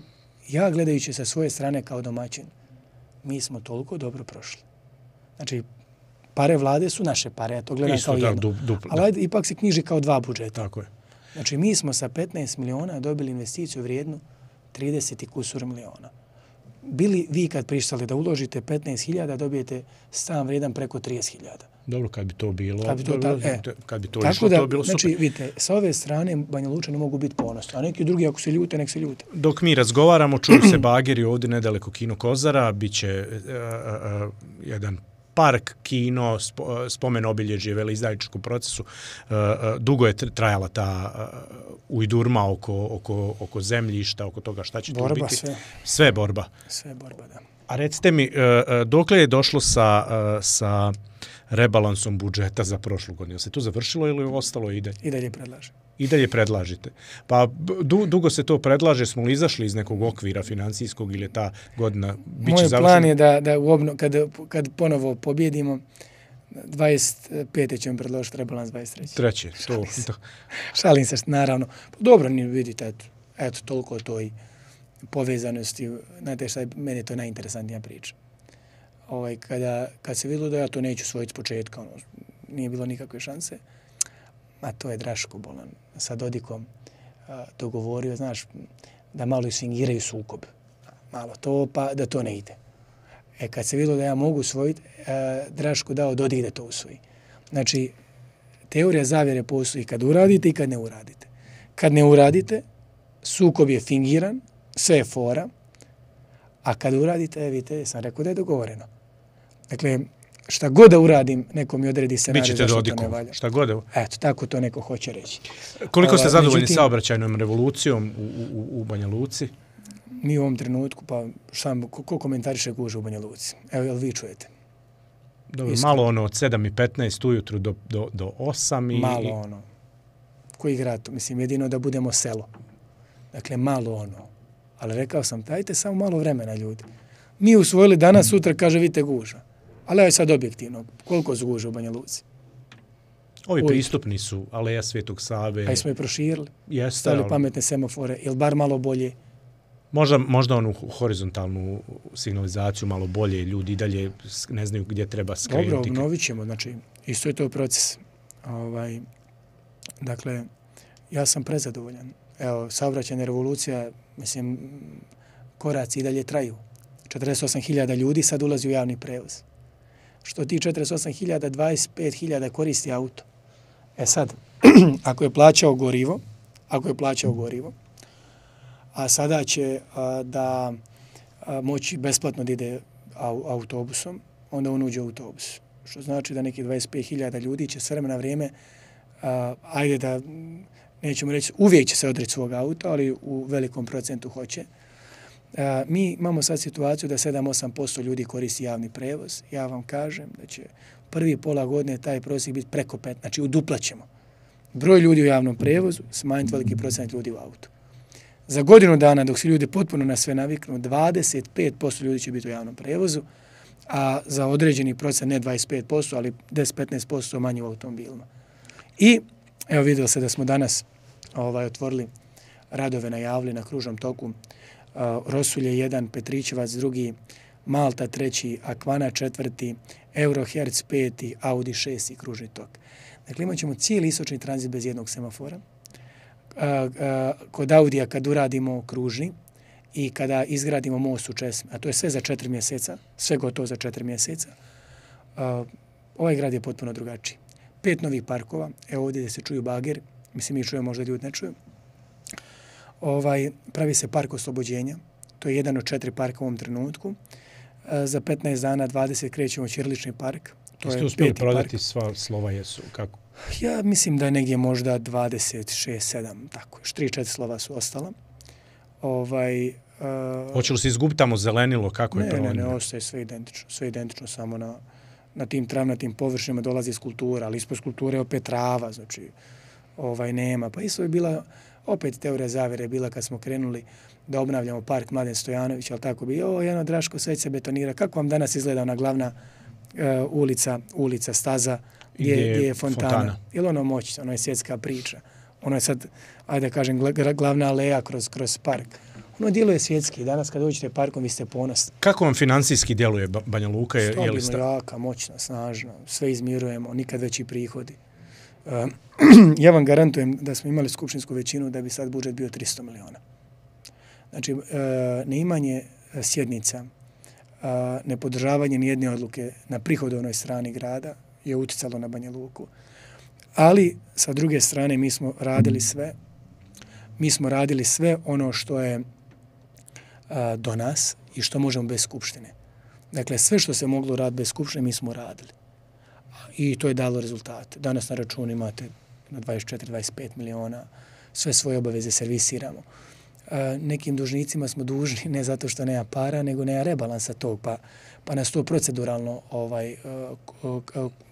ja gledajući sa svoje strane kao domaćin, mi smo toliko dobro prošli. Znači, pare vlade su naše pare, ja to gledam kao jedno. Ali ipak se knjiži kao 2 budžeta. Tako je. Znači, mi smo sa 15 miliona dobili investiciju vrijednu 30 i kusur miliona. Bili vi kad prištali da uložite 15.000, dobijete stan vrijedan preko 30.000. Dobro, kad bi to bilo... Kad bi to tako išlo, da, to bi bilo super. Znači, vidite, sa ove strane Banja Lučani mogu biti ponosni, a neki drugi ako se ljute, nek se ljute. Dok mi razgovaramo, čuju se bageri ovdje nedaleko Kino Kozara, bit će jedan park, kino, spomen obilježje veleizdajničkom procesu. Dugo je trajala ta ujdurma oko zemljišta, oko toga šta će tu biti. Sve borba. Sve borba, da. A recite mi, dokle je došlo sa rebalansom budžeta za prošlu godinu? Se to završilo ili ostalo i dalje? I dalje predlažem. I dalje predlažite. Pa dugo se to predlaže, smo li izašli iz nekog okvira financijskog ili je ta godina biće završena? Moj plan je da kad ponovo pobjedimo, 25. ćemo predložiti rebalans 23. Treće. Šalim se, naravno. Dobro, vidite, eto, toliko to i povezanosti. Znate šta je, meni je to najinteresantnija priča. Kad se vidjelo da ja to neću svojiti s početka, nije bilo nikakve šanse, a to je Draško Bolan sa Dodikom dogovorio, znaš, da malo isfingiraju sukob. Malo to, pa da to ne ide. Kad se vidjelo da ja mogu usvojiti, Draško dao Dodik da to usvoji. Znači, teorija zavjere postoji kad uradite i kad ne uradite. Kad ne uradite, sukob je fingiran, sve je fora, a kad uradite, vidite, sam rekao da je dogovoreno. Dakle, šta god da uradim, neko mi odredi scenarij zašto to ne valja. Šta god da... Eto, tako to neko hoće reći. Koliko ste zadovoljni saobraćajnom revolucijom u Banja Luci? Mi u ovom trenutku, pa ko komentariše gužve u Banja Luci? Evo, jel vi čujete? Dobro, malo ono od 7:15 ujutru do 8 i... Malo ono. Koji grad? Mislim, jedino da budemo selo. Dakle, malo ono. Ali rekao sam, dajte samo malo vremena, ljudi. Mi usvojili danas, sutra, kaže, vidite gužva. Ali je sad objektivno. Koliko su gužve u Banja Luci? Ovi pristupni su Aleja Svetog Save. A i smo je proširili. Jeste. Stavili pametne semafore. Ili bar malo bolje? Možda onu horizontalnu signalizaciju malo bolje. Ljudi dalje ne znaju gdje treba skrenuti. Dobro, obnovit ćemo. Znači, isto je to proces. Dakle, ja sam prezadovoljan. Evo, saobraćajna revolucija, mislim, koraci i dalje traju. 48.000 ljudi sad ulazi u javni prevoz. Što ti 48.000, 25.000 koristi auto. Sad, ako je plaćao gorivo, a sada će da moći besplatno da ide autobusom, onda on uđe u autobus. Što znači da neki 25.000 ljudi će s vremena na vrijeme, ajde da nećemo reći, uvijek će se odreći svog auta, ali u velikom procentu hoće. Mi imamo sad situaciju da 7-8% ljudi koristi javni prevoz. Ja vam kažem da će prvi pola godine taj prosjek biti preko 5, znači uduplaćemo broj ljudi u javnom prevozu, smanjiti veliki procent ljudi u autu. Za godinu dana, dok se ljudi potpuno na sve naviknu, 25% ljudi će biti u javnom prevozu, a za određeni procent, ne 25%, ali 10-15% manje u automobilima. I evo vidio se da smo danas otvorili radove, najavili na kružnom toku. Rosulje 1, Petrićevac 2, Malta 3, Akvana 4, Eurohertz 5, Audi 6 kružni tok. Dakle, imat ćemo cijeli istočni tranzit bez jednog semafora. Kod Audija kad uradimo kružni i kada izgradimo most u Česmi, a to je sve za 4 mjeseca, sve gotovo za 4 mjeseca, ovaj grad je potpuno drugačiji. 5 novih parkova, evo ovdje gdje se čuju bageri, mislim mi čujemo, možda ljudi ne čuju. Pravi se park oslobođenja, to je jedan od 4 parka u ovom trenutku. Za 15 dana 20 krećemo ćirilični park. Jeste uspjeli prodati sva slova, jesu? Kako? Ja mislim da je negdje možda 26-7, tako. Još 3-4 slova su ostala. Hoće li se izgubiti tamo zelenilo? Kako je to? Ne, ostaje sve identično. Sve identično, samo na tim travnatim površinama dolazi skulptura, ali ispod skulpture je opet trava, znači nema. Pa isto je bila, opet teorija zavjere je bila kad smo krenuli da obnavljamo park Mladen Stojanović, ali tako bi, Jano Draško, sve se betonira. Kako vam danas izgleda ona glavna ulica, staza, gdje je fontana? Je li ono moć? Ono je svjetska priča. Ono je sad, ajde da kažem, glavna aleja kroz park. Ono djeluje svjetski. Danas kad dođete parkom, vi ste ponosni. Kako vam financijski djeluje Banja Luka? Stabilno, jaka, moćna, snažna. Sve izmirujemo, nikad veći prihodi. Ja vam garantujem da smo imali skupštinsku većinu da bi sad budžet bio 300 miliona. Znači, neimanje sjednica, nepodržavanje nijedne odluke na prihodovnoj strani grada je uticalo na Banja Luku. Ali, sa druge strane, mi smo radili sve ono što je do nas i što možemo bez skupštine. Dakle, sve što se moglo raditi bez skupštine, mi smo radili. I to je dalo rezultate. Danas na računu imate na 24-25 miliona, sve svoje obaveze servisiramo. Nekim dužnicima smo dužni ne zato što nema para, nego nema rebalansa tog, pa nas to proceduralno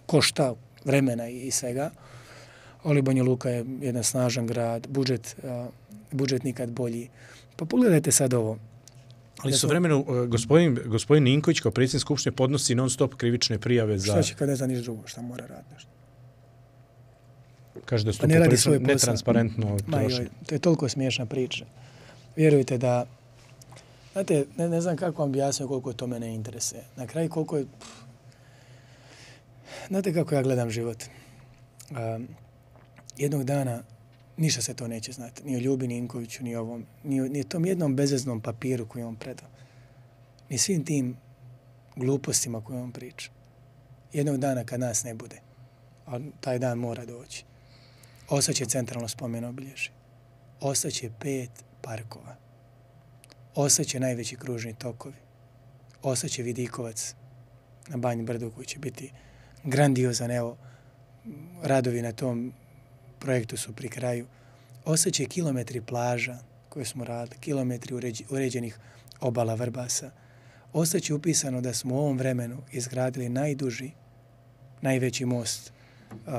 košta vremena i svega. Ali Banja Luka je jedan snažan grad, budžet nikad bolji. Pa pogledajte sad ovo. Ali su vremenu, gospodin Ninković kao predsjednik skupštine podnosi non-stop krivične prijave za... Šta će kad ne zna niš drugo, šta mora raditi nešto? Kaže da su to poprilično netransparentno troši. To je toliko smiješna priča. Vjerujte da, znate, ne znam kako vam objasnio koliko to mene interesuje. Na kraju koliko je... Znate kako ja gledam život. Jednog dana ništa se to neće znati. Ni o Ljubi Ninkoviću, ni ovom, ni tom jednom bezveznom papiru koji on predao. Ni svim tim glupostima koje on priča. Jednog dana kad nas ne bude, a taj dan mora doći, ostaće centralno spomen obilježje. Ostaće 5 parkova. Ostaće najveći kružni tokovi. Ostaće Vidikovac na Banji Brdu koji će biti grandiozan. Evo, radovi na tom projektu su pri kraju. Ostaće kilometri plaža koje smo radili, kilometri uređenih obala Vrbasa. Ostaće upisano da smo u ovom vremenu izgradili najduži, najveći most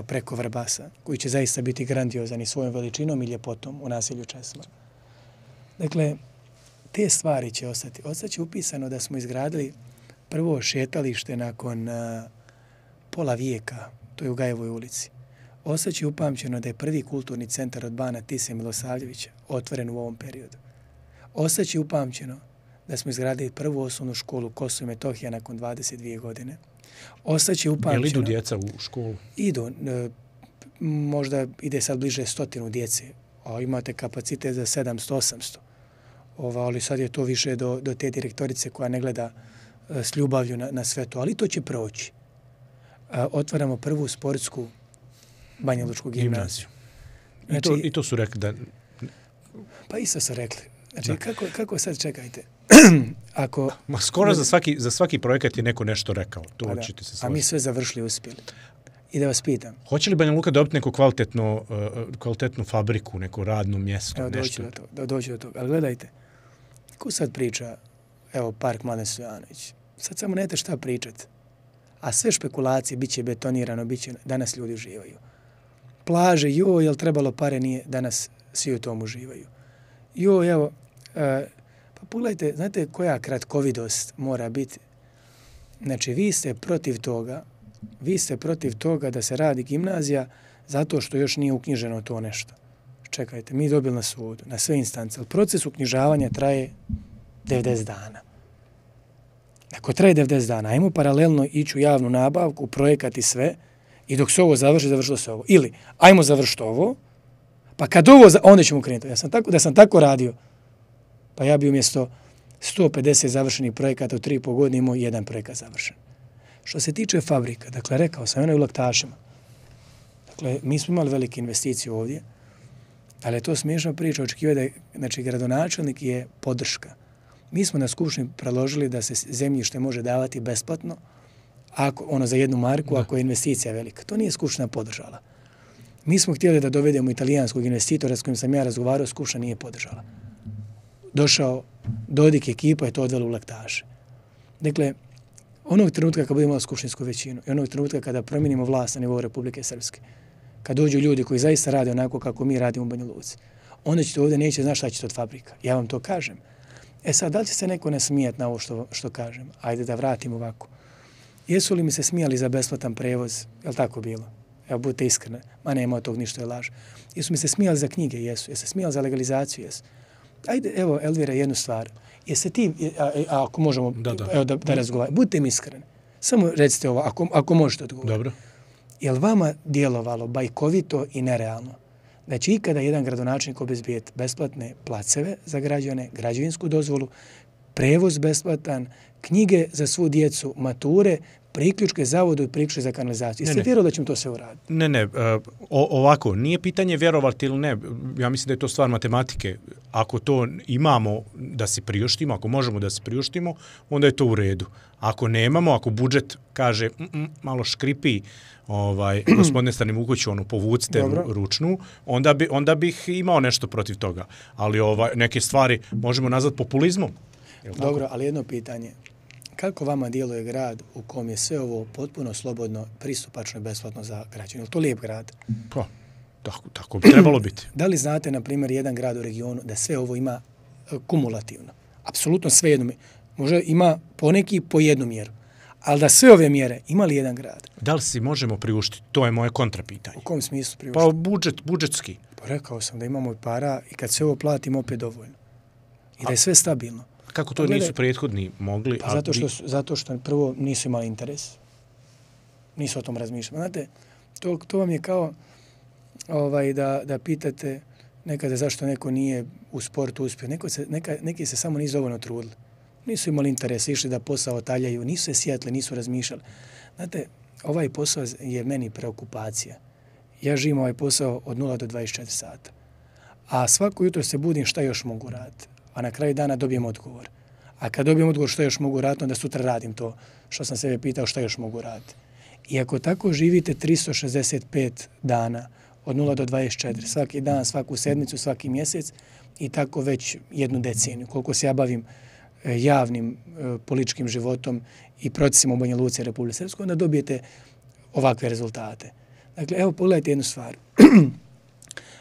preko Vrbasa, koji će zaista biti grandiozan i svojom veličinom i ljepotom u naselju Česma. Dakle, te stvari će ostati. Ostaće upisano da smo izgradili prvo šetalište nakon pola vijeka, to je u Gajevoj ulici. Ostaće upamćeno da je prvi kulturni centar od Bana Tise Milosavljevića otvoren u ovom periodu. Ostaće upamćeno da smo izgradili prvu osnovnu školu Kosovo i Metohija nakon 22 godine. Ostaće upamćeno... Jel idu djeca u školu? Idu. Možda ide sad bliže 100 djece, a imate kapacitet za 700-800. Ali sad je to više do te direktorice koja ne gleda s ljubavlju na sve to. Ali to će proći. Otvaramo prvu sportsku Banja Lučku gimnaziju. Znači, I to su rekli da... Pa isto su rekli. Znači, kako sad čekajte? Skoro za svaki projekat je neko nešto rekao. To ćete se složiti. A mi sve završili uspjeli. I da vas pitam. Hoće li Banja Luka dobiti neku kvalitetnu fabriku, neko radno mjesto? Evo, doći do toga. Ali gledajte, ko sad priča, evo, Park Mladen Stojanović, sad samo nemate šta pričati. A sve špekulacije, bit će betonirano, danas ljudi uživaju. Plaže, jel trebalo pare, nije, danas svi u tom uživaju. Evo, pa pogledajte, znate koja kratkovidost mora biti? Znači, vi ste protiv toga da se radi gimnazija zato što još nije uknjiženo to nešto. Čekajte, mi dobili na sudu, na sve instance, ali proces uknjižavanja traje 90 dana. Ako traje 90 dana, ajmo paralelno ići u javnu nabavku, projekat i sve, i dok se ovo završi, završilo se ovo. Ili, ajmo završiti ovo, pa kad ovo, onda ćemo krenuti. Da sam tako radio, pa ja bi umjesto 150 završenih projekata u 3,5 godine imao jedan projekat završen. Što se tiče fabrika, dakle, rekao sam, ono je u Laktašima. Dakle, mi smo imali velike investicije ovdje, ali je to smiješna priča, očekivati da je, znači, gradonačelnik je podrška. Mi smo na skupštini predložili da se zemljište može davati besplatno, za 1 marku, ako je investicija velika. To nije skupština podržala. Mi smo htjeli da dovedemo italijanskog investitora s kojim sam ja razgovarao, skupština nije podržala. Došao Dodik, ekipa je to odvela u Laktaše. Dakle, onog trenutka kad budemo imali skupštinsku većinu i onog trenutka kada promijenimo vlast na nivou Republike Srpske, kad dođu ljudi koji zaista rade onako kako mi radimo u Banja Luci, onda ćete ovdje neće znati šta ćete od fabrika. Ja vam to kažem. Sad, da li će se neko ne smijeti na ovo što kažem? Ajde da vratim ovako. Jesu li mi se smijali za besplatan prevoz? Je li tako bilo? Evo, budite iskreni. Ma nema od tog ništa je laž. Jesu mi se smijali za knjige? Jesu. Jesu se smijali za legalizaciju? Jesu. Ajde, evo, Elvira, jednu stvar. Jeste ti, ako možemo da razgovaramo, budite mi iskreni. Samo recite ovo, ako možete odgovoriti. Dobro. Je li vama djelovalo bajkovito i nerealno da će ikada jedan gradonačelnik obezbijeti besplatne placeve za građane, građevinsku dozvolu, prevoz besplatan, knjige za svu djecu, mature, priključke zavodu i priključke za kanalizaciju? Jeste vjerovali da ćemo to sve uraditi? Ne. Ovako, nije pitanje vjerovati ili ne. Ja mislim da je to stvar matematike. Ako to imamo da se priuštimo, ako možemo da se priuštimo, onda je to u redu. Ako nemamo, ako budžet kaže malo škripi, gospodine Stanivukoviću, povucite ručnu, onda bih imao nešto protiv toga. Ali neke stvari možemo nazvati populizmom. Dobro, ali jedno pitanje. Kako vama djeluje grad u kom je sve ovo potpuno slobodno, pristupačno i besplatno za građane? Je li to lijep grad? Pa, tako bi trebalo biti. Da li znate, na primjer, jedan grad u regionu da sve ovo ima kumulativno? Apsolutno sve jedno. Možda ima poneki po jednu mjeru. Ali da sve ove mjere ima li jedan grad? Da li si možemo priuštiti? To je moje kontrapitanje. U kom smislu priuštiti? Pa budžetski. Pa rekao sam da imamo para i kad se ovo platimo opet dovoljno. I da je sve stabilno. Kako to nisu prethodni mogli? Pa zato što prvo nisu imali interes. Nisu o tom razmišljali. Znate, to vam je kao da pitate nekada zašto neko nije u sportu uspio. Neki se samo nisu dovoljno trudili. Nisu imali interes, išli da posao taljaju, nisu se sjetili, nisu razmišljali. Znate, ovaj posao je meni preokupacija. Ja živim ovaj posao od 0 do 24 sata. A svako jutro se budim šta još mogu raditi. A na kraju dana dobijem odgovor. A kad dobijem odgovor što još mogu raditi, onda sutra radim to što sam sebe pitao šta još mogu raditi. I ako tako živite 365 dana, od 0 do 24, svaki dan, svaku sedmicu, svaki mjesec i tako već 1 deceniju, koliko se ja bavim javnim političkim životom i procesima u Banja Luci i Republike Srpskoj, onda dobijete ovakve rezultate. Dakle, evo, pogledajte jednu stvar.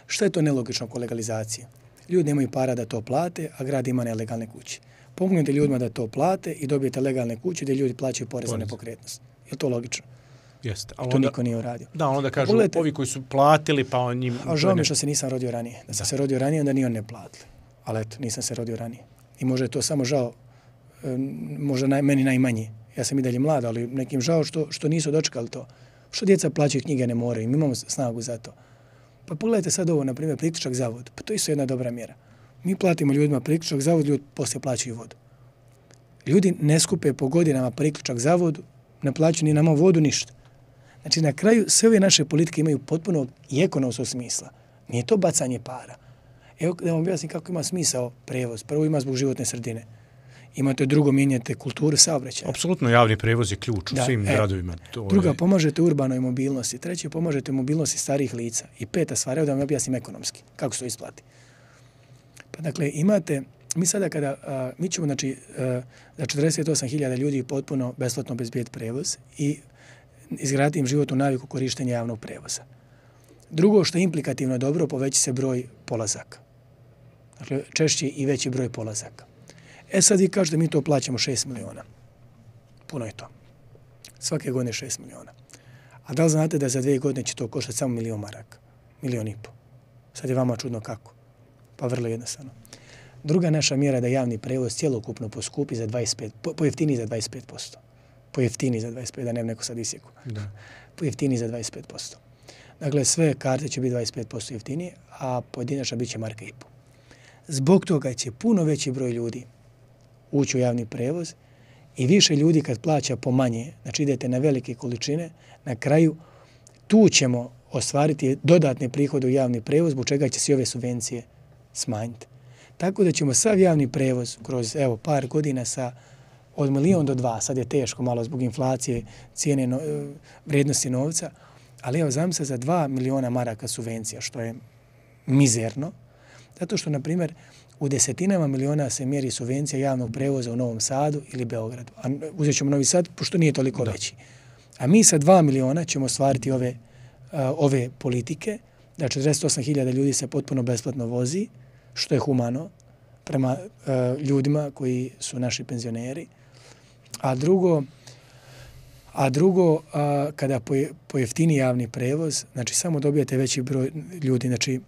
Šta je to nelogično oko legalizacije? Ljudi nemaju para da to plate, a grad ima nelegalne kuće. Pomognete ljudima da to plate i dobijete legalne kuće gdje ljudi plaćaju porez za nepokretnost. Je to logično? Jeste. To niko nije uradio. Da, onda kažu ovi koji su platili, pa on njim... A žao mi što se nisam rodio ranije. Da sam se rodio ranije, onda ni on ne platili. Ali eto, nisam se rodio ranije. I možda je to samo žao, možda meni najmanje. Ja sam i dalje mlad, ali nekim žao što nisu dočekali to. Što djeca plaćaju knjige ne moraju, mi imamo snagu za to. Pa pogledajte sad ovo, na primjer, priključak zavod. Pa to je isto jedna dobra mjera. Mi platimo ljudima priključak zavod, ljudi poslije plaćaju vodu. Ljudi ne skupe po godinama priključak zavodu, ne plaćaju ni nama vodu, ništa. Znači, na kraju sve ove naše politike imaju potpuno i ekonomskog smisla. Nije to bacanje para. Evo da vam objasnim kako ima smisao prevoz. Prvo ima zbog životne sredine. Imate drugo, mijenjate kulturu saobraćaja. Apsolutno, javni prevoz je ključ u svim gradovima. Druga, pomažete urbanoj mobilnosti. Treće, pomažete mobilnosti starijih lica. I peta stvar, evo da vam objasnim ekonomski, kako se to isplati. Pa dakle, imate, mi sada kada, mi ćemo, znači, za 48.000 ljudi potpuno besplatno obezbijeti prevoz i izgraditi im životnu naviku korištenja javnog prevoza. Drugo, što je implikativno dobro, poveći se broj polazaka. Dakle, češći i veći broj polazaka. Sad vi kažete mi to plaćamo 6 miliona. Puno je to. Svake godine 6 miliona. A da li znate da za 2 godine će to koštati samo 1.000.000 maraka? 1,5 miliona. Sad je vama čudno kako? Pa vrlo jednostavno. Druga naša mjera je da javni prevoz cjelokupno poskupi za 25%, pojeftini za 25%. Pojeftini za 25%, da nema neko sad isjeku. Pojeftini za 25%. Dakle, sve karte će biti 25% jeftinije, a pojedinačna bit će 1,5 marka. Zbog toga će puno veći broj ljudi ući u javni prevoz i više ljudi kad plaća po manje, znači idete na velike količine, na kraju tu ćemo ostvariti dodatne prihode u javni prevoz, zbog čega će se ove subvencije smanjiti. Tako da ćemo sav javni prevoz kroz par godina od 1 milion do 2, sad je teško malo zbog inflacije, cijene vrijednosti novca, ali zamislite za 2 miliona maraka subvencija, što je mizerno, zato što, na primjer, u desetinama miliona se mjeri subvencija javnog prevoza u Novom Sadu ili Beogradu. A uzet ćemo Novi Sad, pošto nije toliko veći. A mi sa 2 miliona ćemo ostvariti ove politike, da 48.000 ljudi se potpuno besplatno vozi, što je humano prema ljudima koji su naši penzioneri. A drugo, kada pojeftini javni prevoz, znači samo dobijate veći broj ljudi, znači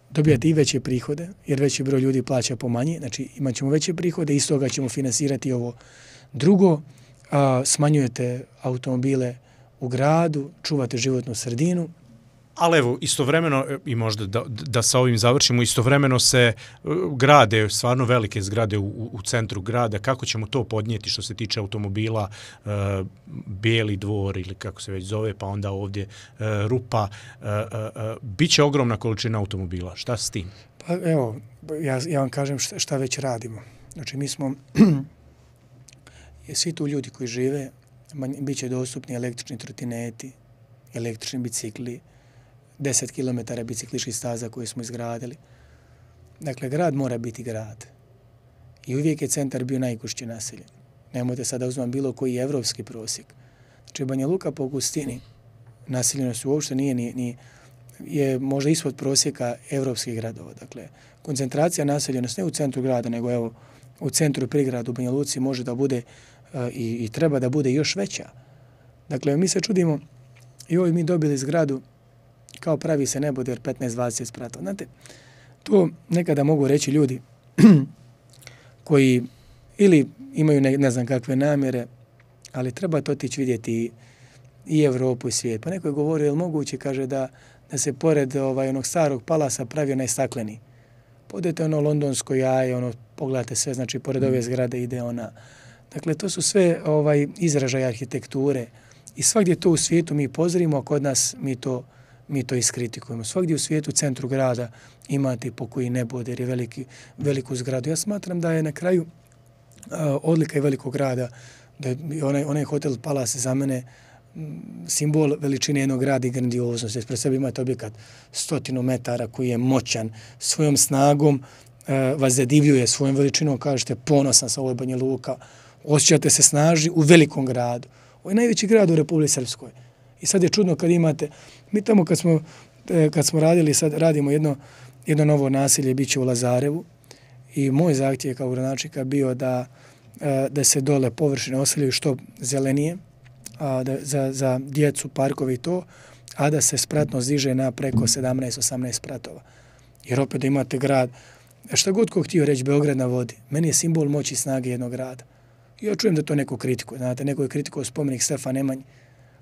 dobijate i veće prihode, jer veći broj ljudi plaća po manje, znači imat ćemo veće prihode, iz toga ćemo finansirati ovo. Drugo, smanjujete automobile u gradu, čuvate životnu sredinu. Ali evo, istovremeno, i možda da sa ovim završimo, istovremeno se grade, stvarno velike zgrade u centru grada. Kako ćemo to podnijeti što se tiče automobila, Bijeli dvor ili kako se već zove, pa onda ovdje Rupa. Biće ogromna količina automobila. Šta s tim? Pa evo, ja vam kažem šta već radimo. Znači mi smo, svi tu ljudi koji žive, bit će dostupni električni trotineti, električni bicikli, 10 km bicikličkih staza koje smo izgradili. Dakle, grad mora biti grad. I uvijek je centar bio najgušće naseljen. Nemojte sada uzmati bilo koji evropski prosjek. Znači, Banja Luka po gustini naseljenost uopšte nije je možda ispod prosjeka evropskih gradova. Dakle, koncentracija naseljenosti ne u centru grada, nego evo u centru i prigradu u Banja Luci može da bude i treba da bude još veća. Dakle, mi se čudimo i mi dobili zgradu kao pravi se neboder 15-20 spratova. Znate, to nekada mogu reći ljudi koji ili imaju ne znam kakve namjere, ali treba to otići vidjeti i Evropu i svijet. Pa neko je govorio, je li moguće, kaže, da se pored onog starog palasa pravi onaj stakleni. Podete londonsko jaje, pogledate sve, znači pored ove zgrade ide ona. Dakle, to su sve izražaje arhitekture i svakdje to u svijetu mi pozorimo, a kod nas mi to iskritikujemo. Svakdje u svijetu, u centru grada, imate pokoji neboder, je veliku zgradu. Ja smatram da je na kraju odlika i velikog grada, da je onaj hotel Palace za mene simbol veličine jednog grada i grandioznosti. Pred sebi imate objekat 100 metara koji je moćan, svojom snagom vas zadivljuje, svojom veličinom kažete ponosan sa ovoj Banja Luka, osjećate se snažni u velikom gradu. Ovo je najveći grad u Republici Srpskoj. I sad je čudno kad imate, mi tamo kad smo radili, sad radimo jedno novo naselje, bit će u Lazarevu i moj zahtjev kao gradonačelnika bio da se dole površine oseljaju što zelenije, za djecu, parkove i to, a da se spratnost diže na preko 17-18 spratova. Jer opet da imate grad, šta god ko htio reći Beograd na vodi, meni je simbol moći i snage jednog grada. Ja čujem da to neko kritikuje, znate, neko je kritikovao spomenik Stefan Nemanji,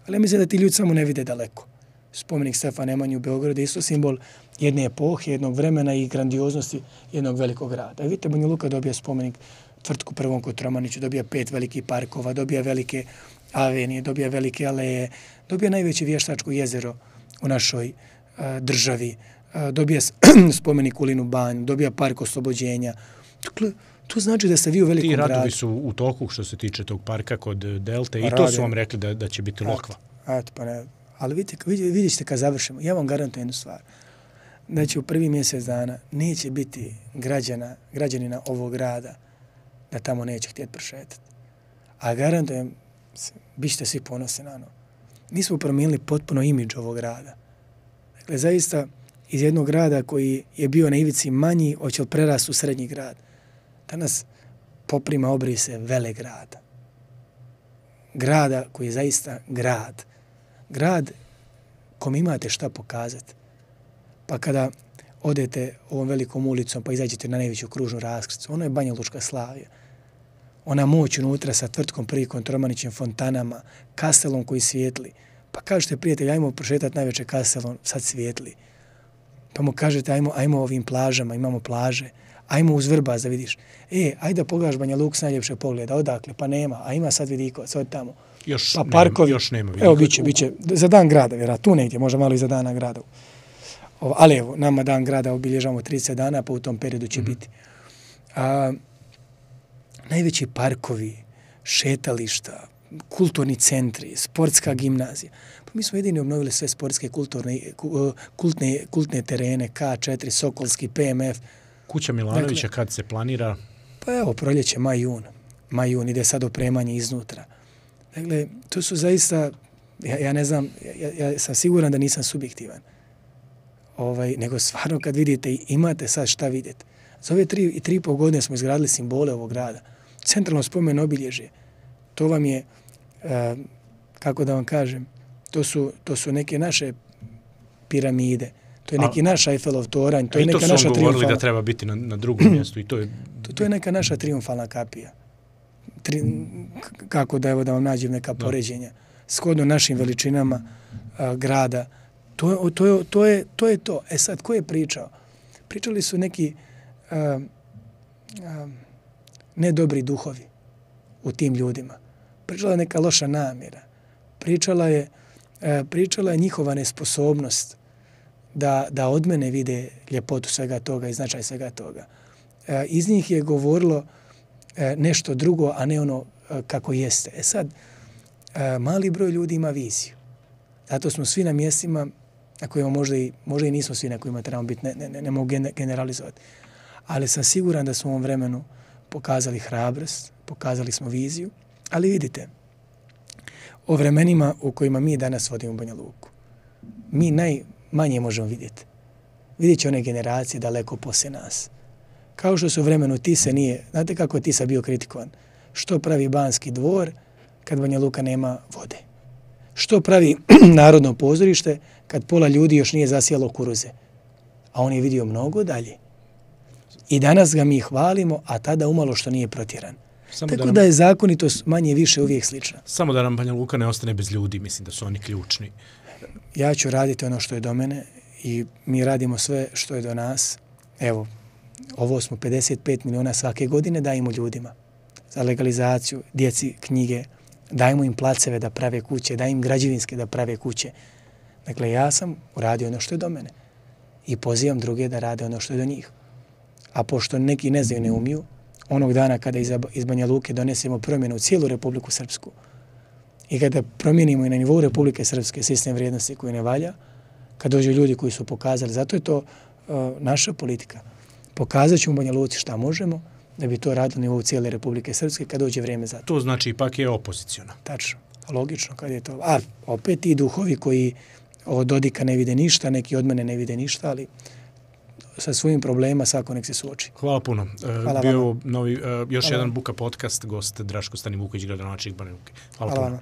ali ja mislim da ti ljudi samo ne vide daleko. Spomenik Stefan Nemanji u Beogradu je isto simbol jedne epohe, jednog vremena i grandioznosti jednog velikog grada. I vidite, Banja Luka dobija spomenik Tvrtku prvom Kotromaniću, dobija 5 velikih parkova, dobija velike avenije, dobija velike aleje, dobija najveće vještačko jezero u našoj državi, dobija spomenik Ulinu banju, dobija park oslobođenja. Dakle, To znači da ste vi u velikom gradu. Ti radovi su u toku što se tiče tog parka kod Delte i to su vam rekli da će biti lokva. Pa ne. Ali vidjet ćete kad završimo. Ja vam garantujem jednu stvar. Da će u prvi mjesec dana neće biti građanina ovog grada da tamo neće htjeti prošetati. A garantujem, bit ćete svi ponosni na ono. Mi smo promijenili potpuno imidž ovog grada. Dakle, zaista iz jednog grada koji je bio na ivici manji, hoće li prerasti u srednji grad. Danas poprima obrise velegrada. Grada koji je zaista grad. Grad kom imate šta pokazati. Pa kada odete ovom velikom ulicom pa izađete na najveću kružnu raskrsnicu, ono je Banja Lučka Slavija. Ona moć unutra sa tvrtkom Prikom, Tromanićem, fontanama, kastelom koji svijetli. Pa kažete, prijatelj, ajmo prošetati najveće kastelom, sad svijetli. Pa mu kažete, ajmo ovim plažama, imamo plaže, ajmo uz Vrbas da vidiš. Ajde da pogledaš Banja Luku s najljepše pogleda, odakle, pa nema, a ima sad Vidikovac, od tamo. Još nema. Evo, biće, za dan grada, vjerojatno, tu negdje, možda malo i za dana grada. Ali evo, nama dan grada obilježavamo 30 dana, pa u tom periodu će biti. Najveći parkovi, šetališta, kulturni centri, sportska gimnazija. Pa mi smo jedini obnovili sve sportske kultne terene, K4, Sokolski, PMF. Kuća Milanovića kad se planira? Pa evo, proljeće, maj, jun, ide sad opremanje iznutra. Dakle, to su zaista, ja ne znam, ja sam siguran da nisam subjektivan. Nego stvarno kad vidite, imate sad šta vidjeti. Za ove 3,5 godine smo izgradili simbole ovog grada. Centralno spomen obilježje. To vam je, kako da vam kažem, to su neke naše piramide. To je neki naš Eiffelov toranj. To je neka naša triumfalna... I to su govorili da treba biti na drugom mjestu. To je neka naša triumfalna kapija. Kako da vam nađem neka poređenja. Shodno našim veličinama grada. To je to. Sad, ko je pričao? Pričali su neki nedobri duhovi u tim ljudima. Pričala je neka loša namjera. Pričala je njihova nesposobnost da od mene vide ljepotu svega toga i značaj svega toga. Iz njih je govorilo nešto drugo, a ne ono kako jeste. Sad, mali broj ljudi ima viziju. Zato smo svi na mjestima na kojima možda i nismo svi na kojima trebamo biti, ne mogu generalizovati. Ali sam siguran da smo u ovom vremenu pokazali hrabrost, pokazali smo viziju, ali vidite, o vremenima u kojima mi danas vodimo Banja Luku, mi najmanje možemo vidjeti. Vidjet će one generacije daleko poslije nas. Kao što su u vremenu Tise nije, znate kako je Tisa bio kritikovan? Što pravi Banski dvor kad Banja Luka nema vode? Što pravi Narodno pozorište kad pola ljudi još nije zasijalo kuruze? A on je vidio mnogo dalje. I danas ga mi hvalimo, a tada umalo što nije protjeran. Tako da je zakonitost manje više uvijek slična. Samo da nam Banja Luka ne ostane bez ljudi, mislim da su oni ključni. Ja ću raditi ono što je do mene i mi radimo sve što je do nas. Evo, ovo smo 55 miliona svake godine dajemo ljudima za legalizaciju, djeci knjige, dajemo im placeve da prave kuće, dajemo im građevinske da prave kuće. Dakle, ja sam uradio ono što je do mene i pozivam druge da rade ono što je do njih. A pošto neki ne znaju, ne umiju, onog dana kada iz Banja Luke donesemo promjenu u cijelu Republiku Srpsku i kada promijenimo i na nivou Republike Srpske sistem vrijednosti koji ne valja, kad dođu ljudi koji su pokazali, zato je to naša politika. Pokazat ćemo u Banja Luci šta možemo, da bi to radili na nivou cijele Republike Srpske kad dođe vrijeme za to. To znači ipak je opozicijona. Tačno, logično kad je to. A opet ti duhovi koji od Dodika ne vide ništa, neki od mene ne vide ništa, ali sa svojim problema svako nek se suoči. Hvala puno. Bio novi, još jedan Buka podcast, gost Draško Stanivuković, gradonačelnik Banja Luke. Hvala puno.